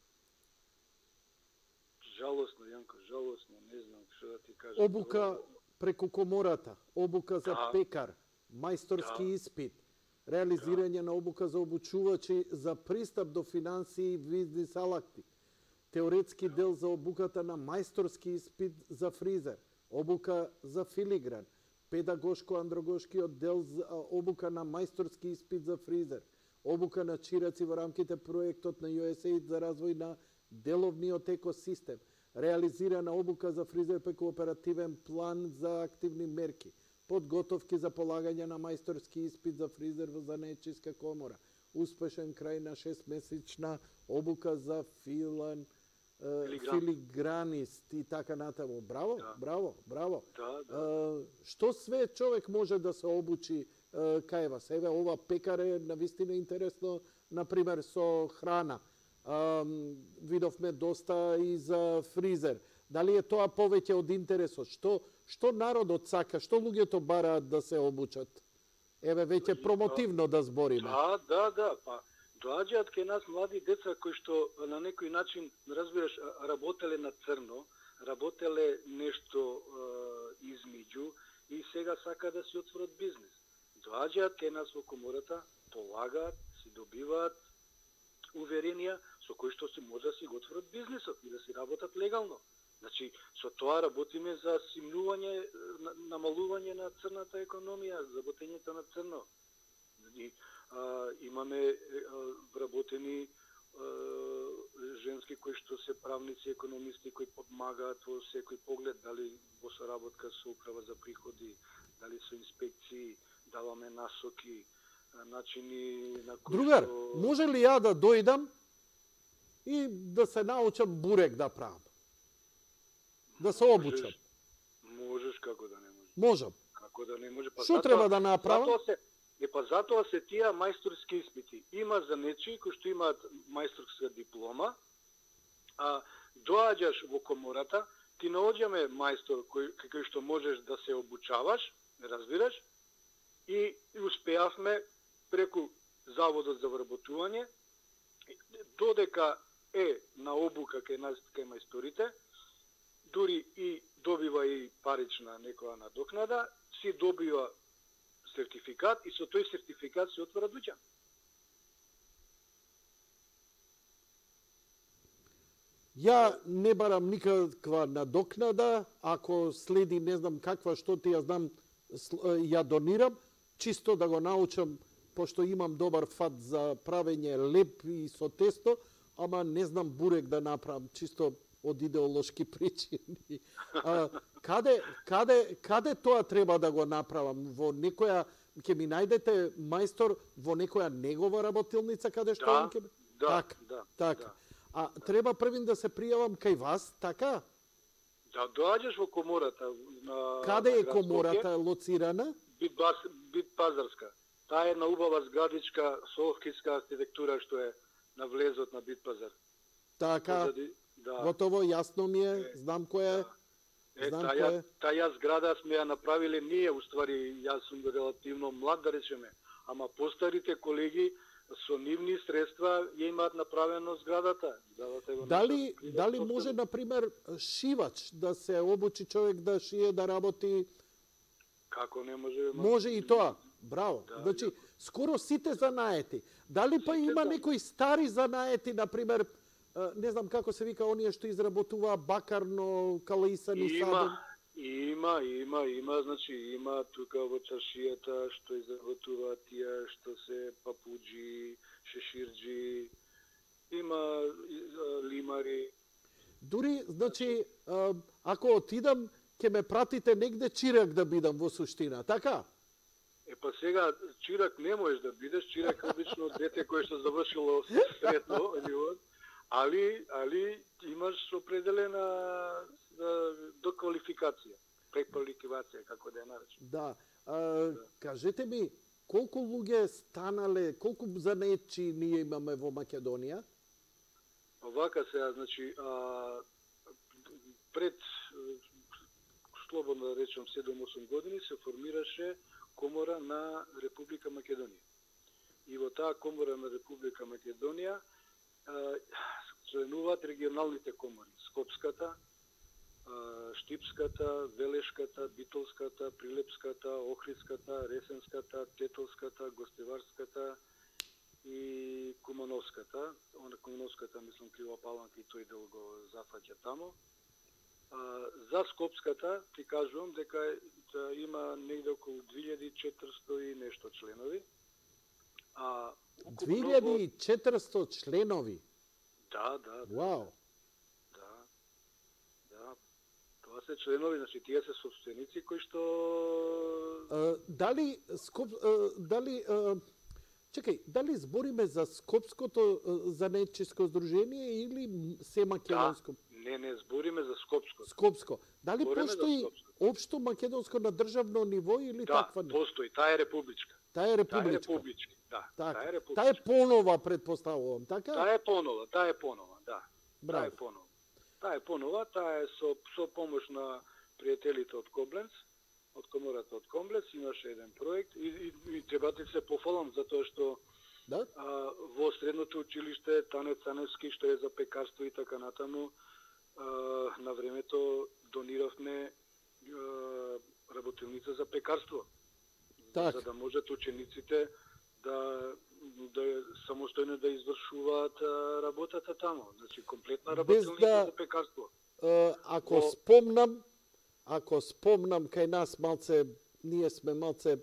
Жалосно, Јанко, жалосно, не знам што да ти кажам. Обука преку комората, обука за пекар, мајсторски испит, реализирање на обука за обучувачи за пристап до финансии и бизнис алакти, теоретски дел за обуката на мајсторски испит за фризер, обука за филигран, педагошко-андрогошкиот дел за обука на мајсторски испит за фризер, обука на чираци во рамките проектот на USAID за развој на деловниот екосистем, реализирана обука за фризер преку оперативен план за активни мерки, подготовки за полагање на мајсторски испит за фризер во Занечиска комора, успешен крај на 6-месечна обука за филигранист и така натаму. Браво, браво, браво. Што све човек може да се обучи кај вас? Еве, ова пекар е навистина интересно, например, со храна. Видовме доста и за фризер. Дали е тоа повеќе од интересот? Што народот сака? Што луѓето бараат да се обучат? Еве, веќе промотивно да збориме. Да. Па, доаѓаат кај нас млади деца кои што на некој начин, разбираш, работеле на црно, работеле нешто измеѓу и сега сака да си отворат бизнис. Доаѓаат кај нас во комората, полагаат, си добиваат уверенија со кои што се може да си го отворат бизнисот и да си работат легално. Значи, со тоа работиме за симнување, намалување на црната економија, работењето на црно. Имаме вработени женски кои што се правници, економисти, кои помагаат во секој поглед, дали во соработка со управа за приходи, дали со инспекции, даваме насоки, начини на кои... Другар, може ли ја да дојдам и да се научам бурек да правам? Да се обучам? Можеш, како да не можеш. Можам. Како да не може? Па Што треба да направам? Затоа се тие мајсторски испити. Има за нечии кои што имаат мајсторска диплома, а доаѓаш во комората, ти наоѓаме мајстор кој што можеш да се обучаваш, разбираш, и успеавме преку Заводот за вработување, додека е на обука кај мајсторите, дури и добива и парична некоја надокнада, си добива сертификат и со тој сертификат се отвара дуќан. Ја не барам никаква надокнада, ако следи не знам каква, што ти ја знам, ја донирам, чисто да го научам, пошто имам добар фат за правење леп и со тесто, ама не знам бурек да направам, чисто од идеолошки причини. Каде тоа треба да го направам? Во некоја, ќе ми најдете мајстор во некоја негова работилница, каде што он ќе... Така. А треба првин да се пријавам кај вас, така? Да, доаѓаш во комората. Каде е комората лоцирана? Бит Пазарска. Таа е на убава зградичка со орхидска архитектура што е на влезот на Бит Пазар. Така, готово, јасно ми е, знам која е. Таја зграда сме ја направиле ние, уствари, јас сум релативно млад, да речеме, ама постарите колеги со нивни средства ја имаат направено зградата. Дали може, например, шивач да се обучи човек да шие, да работи? Како не може? Може и тоа. Браво. Значи, скоро сите занаети. Дали па има некои стари занаети, например, не знам како се вика оние што изработува бакарно, калаисани садом? Има, значи има тука во чаршијата што изработува тие што се папуџи, шеширџи, има лимари. Дури, значи, ако отидам, ќе ме пратите негде чирак да бидам во суштина, така? Па сега чирак не можеш да бидеш, чирак обично дете кое што завршило средно, али имаш определена доквалификација, преквалификација, како да ја наречем. Да. Кажете ми, колку луѓе станале, колку занетчи ние имаме во Македонија? Вака сега, значи, пред, слободно да речем, 7-8 години се формираше Комора на Република Македонија. И во таа Комора на Република Македонија членуваат регионалните комори. Скопската, Штипската, Велешката, Битолската, Прилепската, Охридската, Ресенската, Тетолската, Гостеварската и Кумановската. Она Кумановската, мислам, Крива Паланка и тој дел го зафаќа тамо. За Скопската ти кажувам дека има негде околу 2400 и нешто членови. 2400 членови? Да. Вау. Да. Тоа се членови, значи тие се собственици кои што дали дали збориме за Скопското занетчиско здружение или се македонско? Не, збориме за Скопско. Скопско. Дали постои општо македонско на државно ниво или таква? Да, постои. Таа е републичка. Таа е републичка. Таа е републичка. Таа е понова, предпоставувам, така? Таа е понова, да. Браво. Таа е со помош на пријателите од Кобленц, од комората од Комбленц, имаше еден проект и треба да се пофалам затоа што во средното училиште Тане Цаневски, што е за пекарство и така натаму, на времето дониравме работилница за пекарство. Так. За да можат учениците да самостојно да извршуваат работата тамо. Значи комплетна работилница за пекарство. Ако спомнам кај нас малце, ние сме малце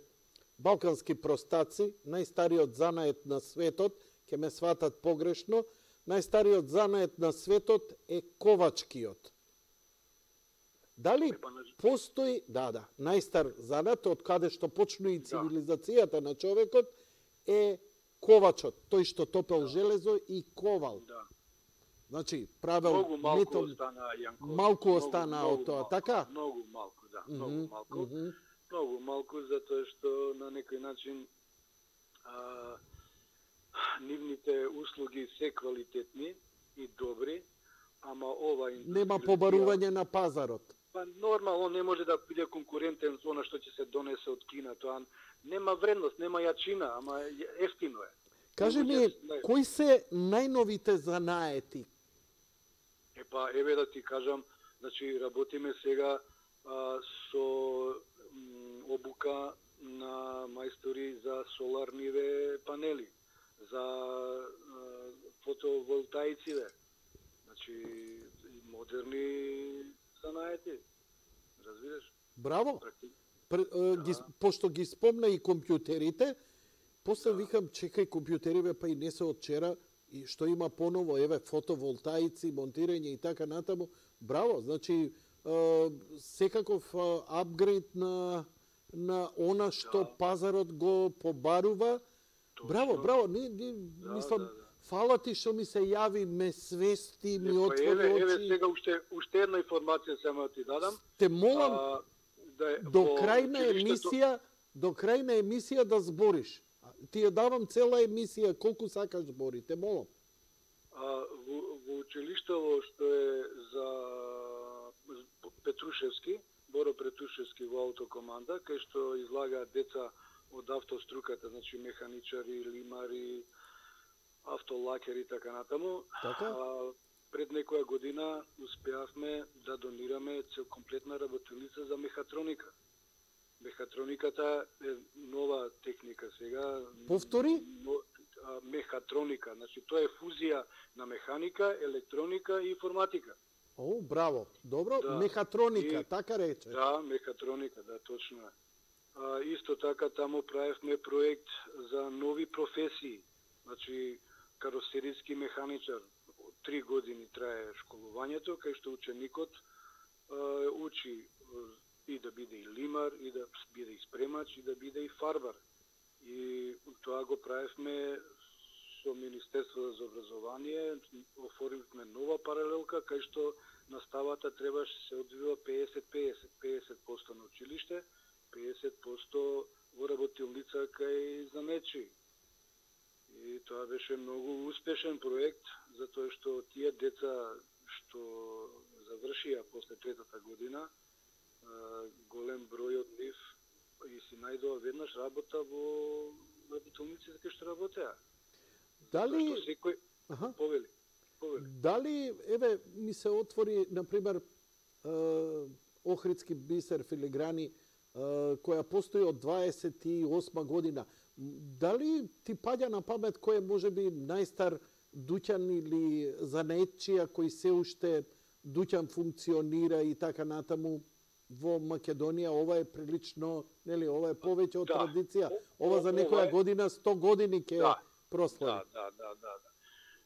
балкански простаци, најстариот занает на светот, ќе ме сватат погрешно, најстариот занает на светот е ковачкиот. Дали постои, најстар занат од каде што почну и цивилизацијата на човекот е ковачот, тој што топел железо и ковал. Значи, правел малку остана Јанко. Малку остана од тоа, така? Многу малку. Многу малку, затоа што на некој начин нивните услуги се квалитетни и добри, ама ова Нема побарување на пазарот. Па нормално не може да биде конкурентен со она што ќе се донесе од Кина, тоа нема вредност, нема јачина, ама ефтино е. Кажи ми, кои се најновите занаети? Епа, еве да ти кажам, значи работиме сега со обука на мајстори за соларниве панели, за фотоволтаициве, значи модерни занаети, разбираш? Браво! Пошто ги спомна и компјутерите, после викам, чекај, компјутериве па и не се од вчера, и што има поново, еве, фотоволтаици, монтирање и така натаму. Браво, значи, секаков апгрейд на она што пазарот го побарува. Браво, браво, мислам, фала ти што ми се јави, ме свести, ми отвори очи. Еве сега уште една информација само да ти дадам. Те молам до крај на емисија да збориш. Ти ја давам цела емисија, колку сакаш збори, те молам. Во училиштето што е за Петрушевски, Боро Петрушевски во автокоманда, кај што излагаат деца од автоструката, значи механичари, лимари, автолакери и така натаму. Така? Пред некоја година успеавме да донираме комплетна работилница за мехатроника. Мехатрониката е нова техника сега. Повтори? Мехатроника, значи тоа е фузија на механика, електроника и информатика. О, браво. Добро, да. Мехатроника, така рече. Да, мехатроника, да, точно е. Исто така таму правевме проект за нови професии. Значи, каросериски механичар. 3 години трае школувањето, кај што ученикот учи и да биде и лимар, и да биде и спремач, и да биде и фарбар. И тоа го правевме со Министерството за образование, оформивме нова паралелка, кај што наставата требаше се одвива 50-50, 50% на училиште, 50% во работилница кај занечи. И тоа беше многу успешен проект, затоа што тие деца што завршија после третата година, голем број од нив и си најдоа веднаш работа во работилниците кај што работеа. Дали секој повели. Дали еве ми се отвори на пример Охридски бисер филиграни која постои од 28 година. Дали ти паѓа на памет кој е можеби најстар дуќан или занетчија кој се уште дуќан функционира и така натаму во Македонија? Ова е прилично, нели, ова е повеќе од традиција. Ова за некоја година 100 години ќе прослави. Да.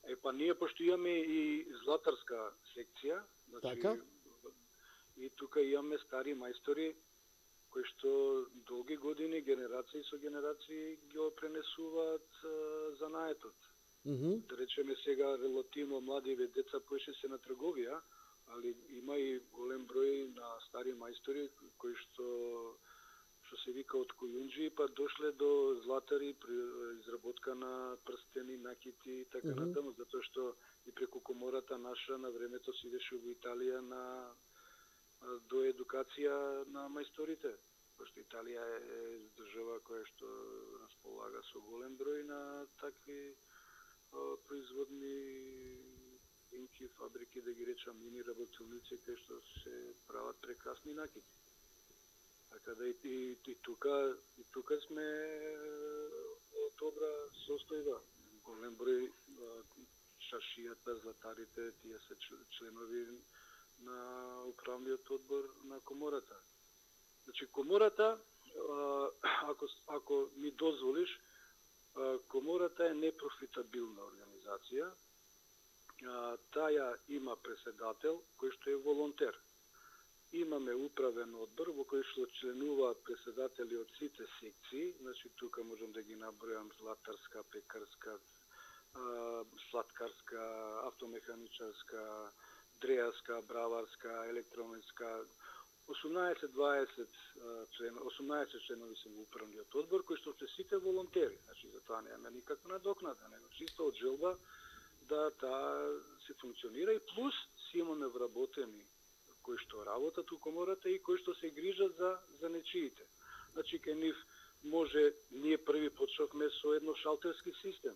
Епа ние пошто имаме и златарска секција, значи така? И тука имаме стари мајстори кои што долги години, генерации со генерации го пренесуваат занаетот. Да речеме сега релативно младиве деца поише се на трговија, али има и голем број на стари мајстори кои што се вика од којунџи, па дошле до златари при изработка на прстени, накити и така натаму, затоа што и преку комората наша на времето се идеше во Италија до едукација на мајсторите. Пошто Италија е држава која што располага со голем број на такви производни инки, фабрики, да ги речам, мини работилници, кај што се прават прекрасни накити. Така да и тука сме добра состојба. Голем број шашијата, златарите, тие се членови на управниот одбор на комората. Значи, комората, ако ми дозволиш, комората е непрофитабилна организација. Таја има преседател кој што е волонтер. Имаме управен одбор во кој што членуваат преседатели од сите секции, значи тука можам да ги набројам златарска, пекарска, сладкарска, автомеханичарска, дрејарска, браварска, електронска, 18 членови се во управниот одбор, кои што се сите волонтери. Значи, за тоа нема никаква надокнада, него чисто од желба да таа се функционира и плюс си имаме вработени кои што работат у комората и кои што се грижат за нечиите. Значи, кај нив може, ние први почнавме со едно шалтерски систем.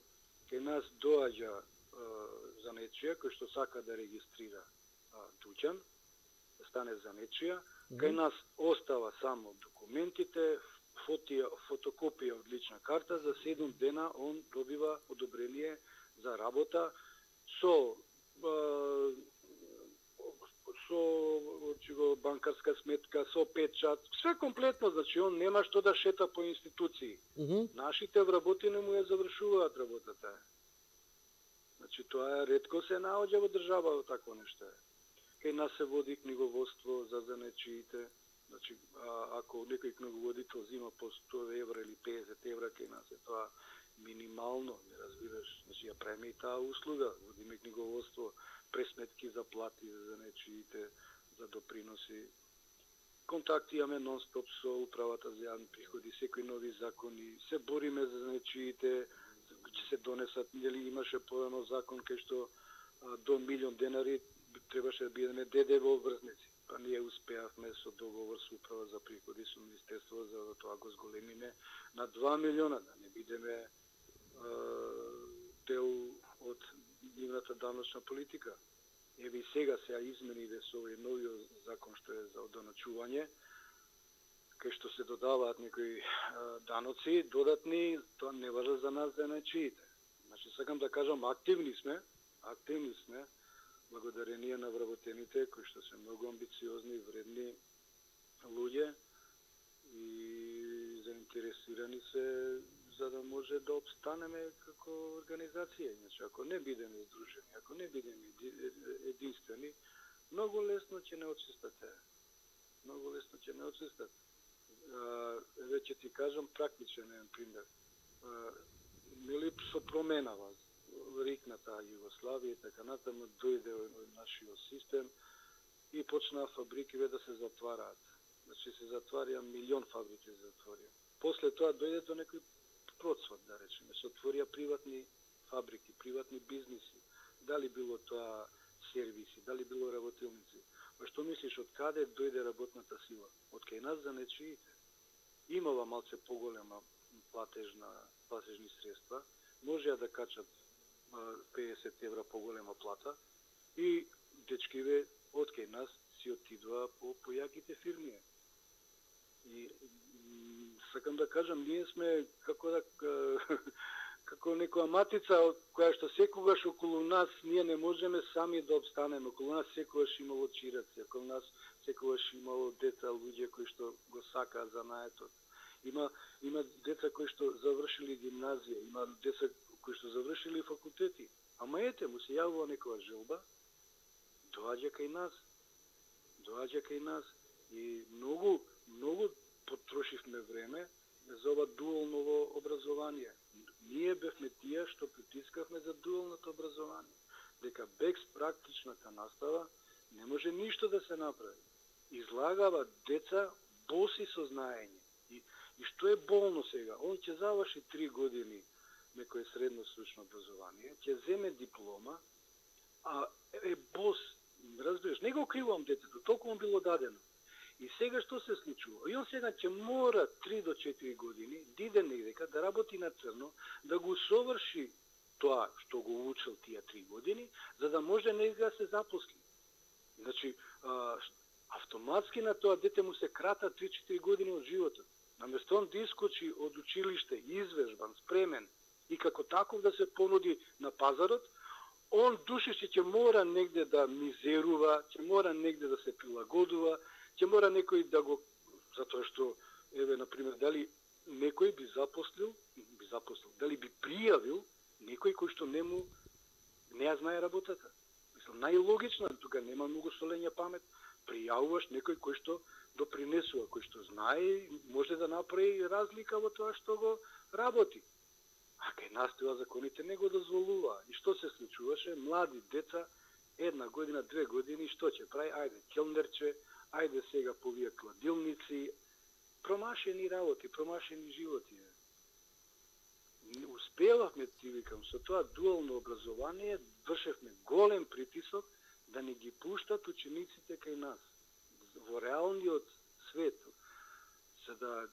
Кај нас доаѓа за нечија кој што сака да регистрира дуќан, стане за нечија, кај нас остава само документите, фотокопија од лична карта, за 7 дена он добива одобрение за работа со банкарска сметка, со печат, све комплетно, значи он нема што да шета по институции. Нашите вработени му ја завршуваат работата. Значи тоа ретко се наоѓа во држава такво нешто. Кај нас се води книговодство за занечиите. Значи, ако некој книговодител зима по 100 евра или 50 евра, кај нас е тоа минимално, не разбираш. Значи, ја правиме и таа услуга. Водиме книговодство, пресметки за плати за занечиите, за доприноси. Контакти имаме нон-стоп со управата за јавни приходи, секои нови закони, се бориме за занечиите, ќе се донесат, нели имаше порано закон кај што до 1.000.000 денари требаше да бидеме ДДВ обврзници. Па ние успеавме со договор со управа за приходи со министерство за да тоа го зголемиме на 2 милиона, да не бидеме дел од нивната даночна политика. Еве и сега измениве со овој новиот закон што е за одоначување, кај што се додаваат некои даноци додатни, тоа не важи за нас занечиите. Значи сакам да кажам, активни сме, благодарение на вработените кои што се многу амбициозни, вредни луѓе и заинтересирани се за да може да обстанеме како организација. Значи, ако не бидеме здружени, ако не бидеме единствени, многу лесно ќе не отсистате. Многу лесно ќе не отсистате. Веќе ти кажам практичен пример. Нели со променава рикната Југославија и така натаму дојде нашиот систем и почнаа фабриките да се затвараат. Значи се затварија милион фабрики се затворија. После тоа дојде до некој процват, да речеме, се отворија приватни фабрики, приватни бизниси. Дали било тоа сервиси, дали било работилници. Па што мислиш, од каде дојде работната сила? Од кај нас за нечиите. Имала малце поголема платежни средства, можеа да качат 50 евра поголема плата и дечкиве од кај нас си отидува по јаките фирми. И сакам да кажам, ние сме како некоја матица која што секогаш околу нас ние не можеме сами да обстанеме. Околу нас секогаш имало чираци, околу нас секогаш имало деца, луѓе кои што го сакаат занаетот. Има деца кои што завршили гимназија, има деца кои што завршили факултети. Ама ете, му се јавува некоја желба, доаѓа кај нас и многу потрошивме време за ова дуално образование. Ние бевме тие што притискавме за дуалното образование. Дека без практичната настава не може ништо да се направи. Излагава деца боси со знаење. И што е болно сега? Он ќе заврши 3 години некој средно стручно образование, ќе земе диплома, а е бос. Разбираш, не го кривам детето, толку му било дадено. И сега што се случува? И он сега ќе мора 3 до 4 години да иде негдека, да работи на црно, да го соврши тоа што го учил тие 3 години, за да може негде да се запосли. Значи, автоматски на тоа дете му се крата 3-4 години од животот. Наместо он да искочи од училиште, извежбан, спремен и како таков да се понуди на пазарот, он душеше ќе мора негде да мизерува, ќе мора негде да се прилагодува, ќе мора некој да го, затоа што, еве, например, дали некој би запослил, дали би пријавил некој кој што не ја знае работата. Мислам, најлогично, тука нема многу солење памет, пријавуваш некој кој што допринесува, кој што знае, може да направи разлика во тоа што го работи. А кај нас тоа законите не го дозволува. И што се случуваше? Млади деца, 1 година, 2 години, што ќе прави? Ајде, келнерче, ајде сега по вие кладилници, промашени работи, промашени животи. Успевавме, ти викам, со тоа дуално образование, вршевме голем притисок да не ги пуштат учениците кај нас, во реалниот свет, за да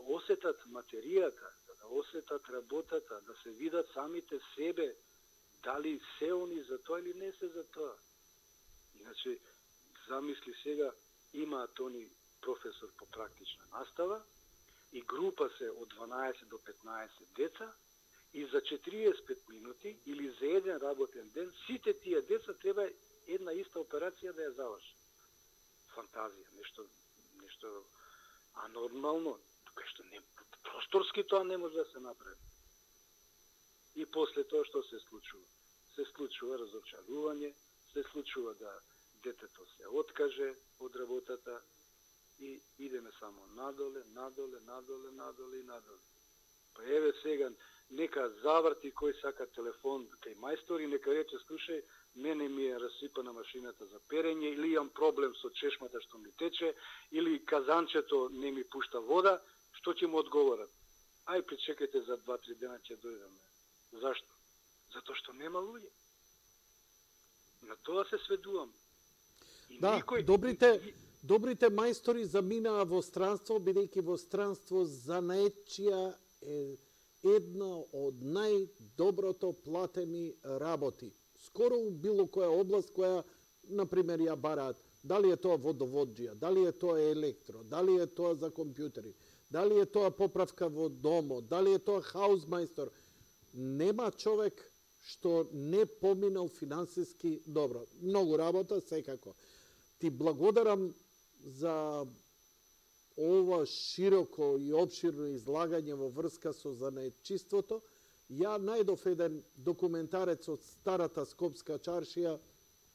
осетат материјата, за да осетат работата, да се видат самите себе, дали се они за тоа или не се за тоа. Иначе, замисли сега, имаат они професор по практична настава и група се од 12 до 15 деца и за 45 минути или за еден работен ден сите тие деца треба една иста операција да ја заврши. Фантазија, нешто анормално, тука што не просторски тоа не може да се направи. И после тоа што се случува? Се случува разочарување, се случува да детето се откаже од работата и идеме само надоле и надоле. Па еве сега, нека заврти кој сака телефон кај мајстори, нека рече, слушај, мене ми е расипана машината за перење, или имам проблем со чешмата што ми тече, или казанчето не ми пушта вода, што ќе му одговорат? Ај, причекајте за 2-3 дена ќе дојдеме. Зашто? Затоа што нема луѓе. На тоа се сведувам. Да, добрите мајстори заминаа во странство, бидејќи во странство занаетчија е една од најдоброто платени работи. Скоро у било која област која, например, ја бараат. Дали е тоа водоводжија, дали е тоа електро, дали е тоа за компјутери, дали е тоа поправка во домо, дали е тоа хаузмајстор. Нема човек што не поминал финансиски добро. Многу работа, секако. Ти благодарам за ова широко и обширно излагање во врска со занаетчиството. Ја најдов еден документарец од старата Скопска чаршија,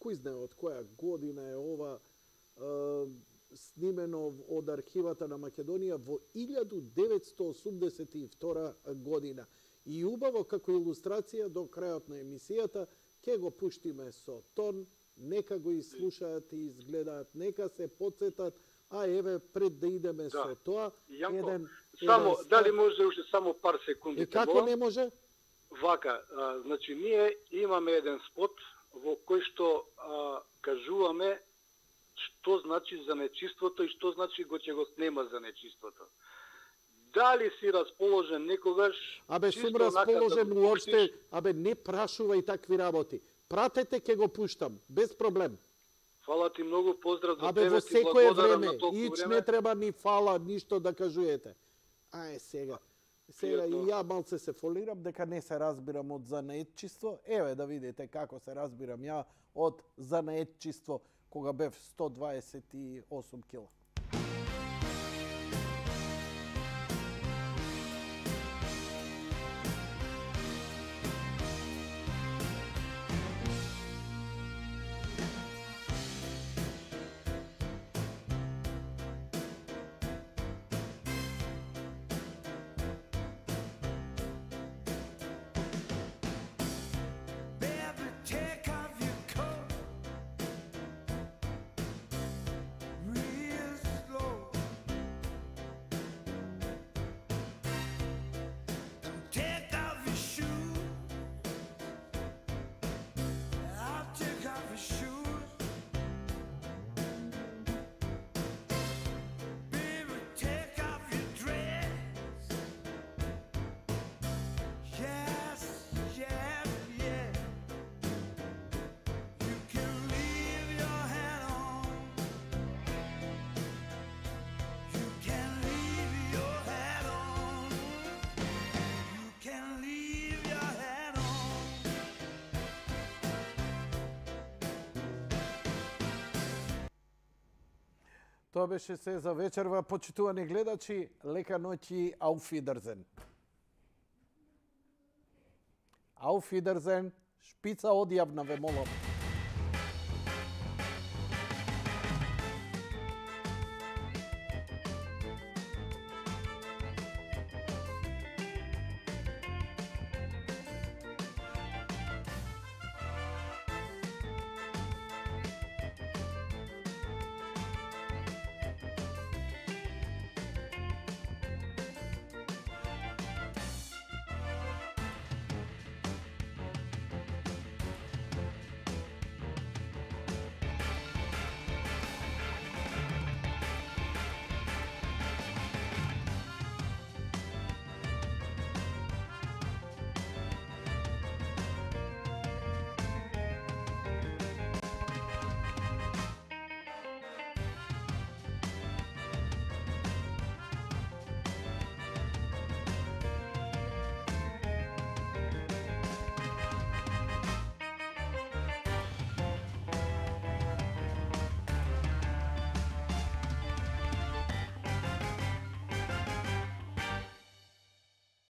кој знае од која година е ова, снимено од архивата на Македонија во 1982 година. И убаво како илустрација до крајот на емисијата ќе го пуштиме со тон, нека го изслушаат и изгледаат, нека се подсетат, а еве пред да идеме со тоа, само дали може уште само пар секунди? И како не може? Вака, значи ние имаме еден спот во кој што кажуваме што значи занечиството и што значи ќе го снема занечиството. Дали си расположен некогаш? Сум расположен уопште, не прашувај такви работи. Пратете, ќе го пуштам, без проблем. Фала ти многу, поздрав до тебе, во ти секое благодарам време, на толку ич време. не треба ни фала, ништо да кажуете. Сега и ја малце се фолирам дека не се разбирам од занаетчиство. Еве да видите како се разбирам ја од занаетчиство кога бев 128 кила. Тоа беше се за вечерва, почитувани гледачи, лека ноќ и Auf Wiedersehen. Auf Wiedersehen, шпица одјавна ве молам.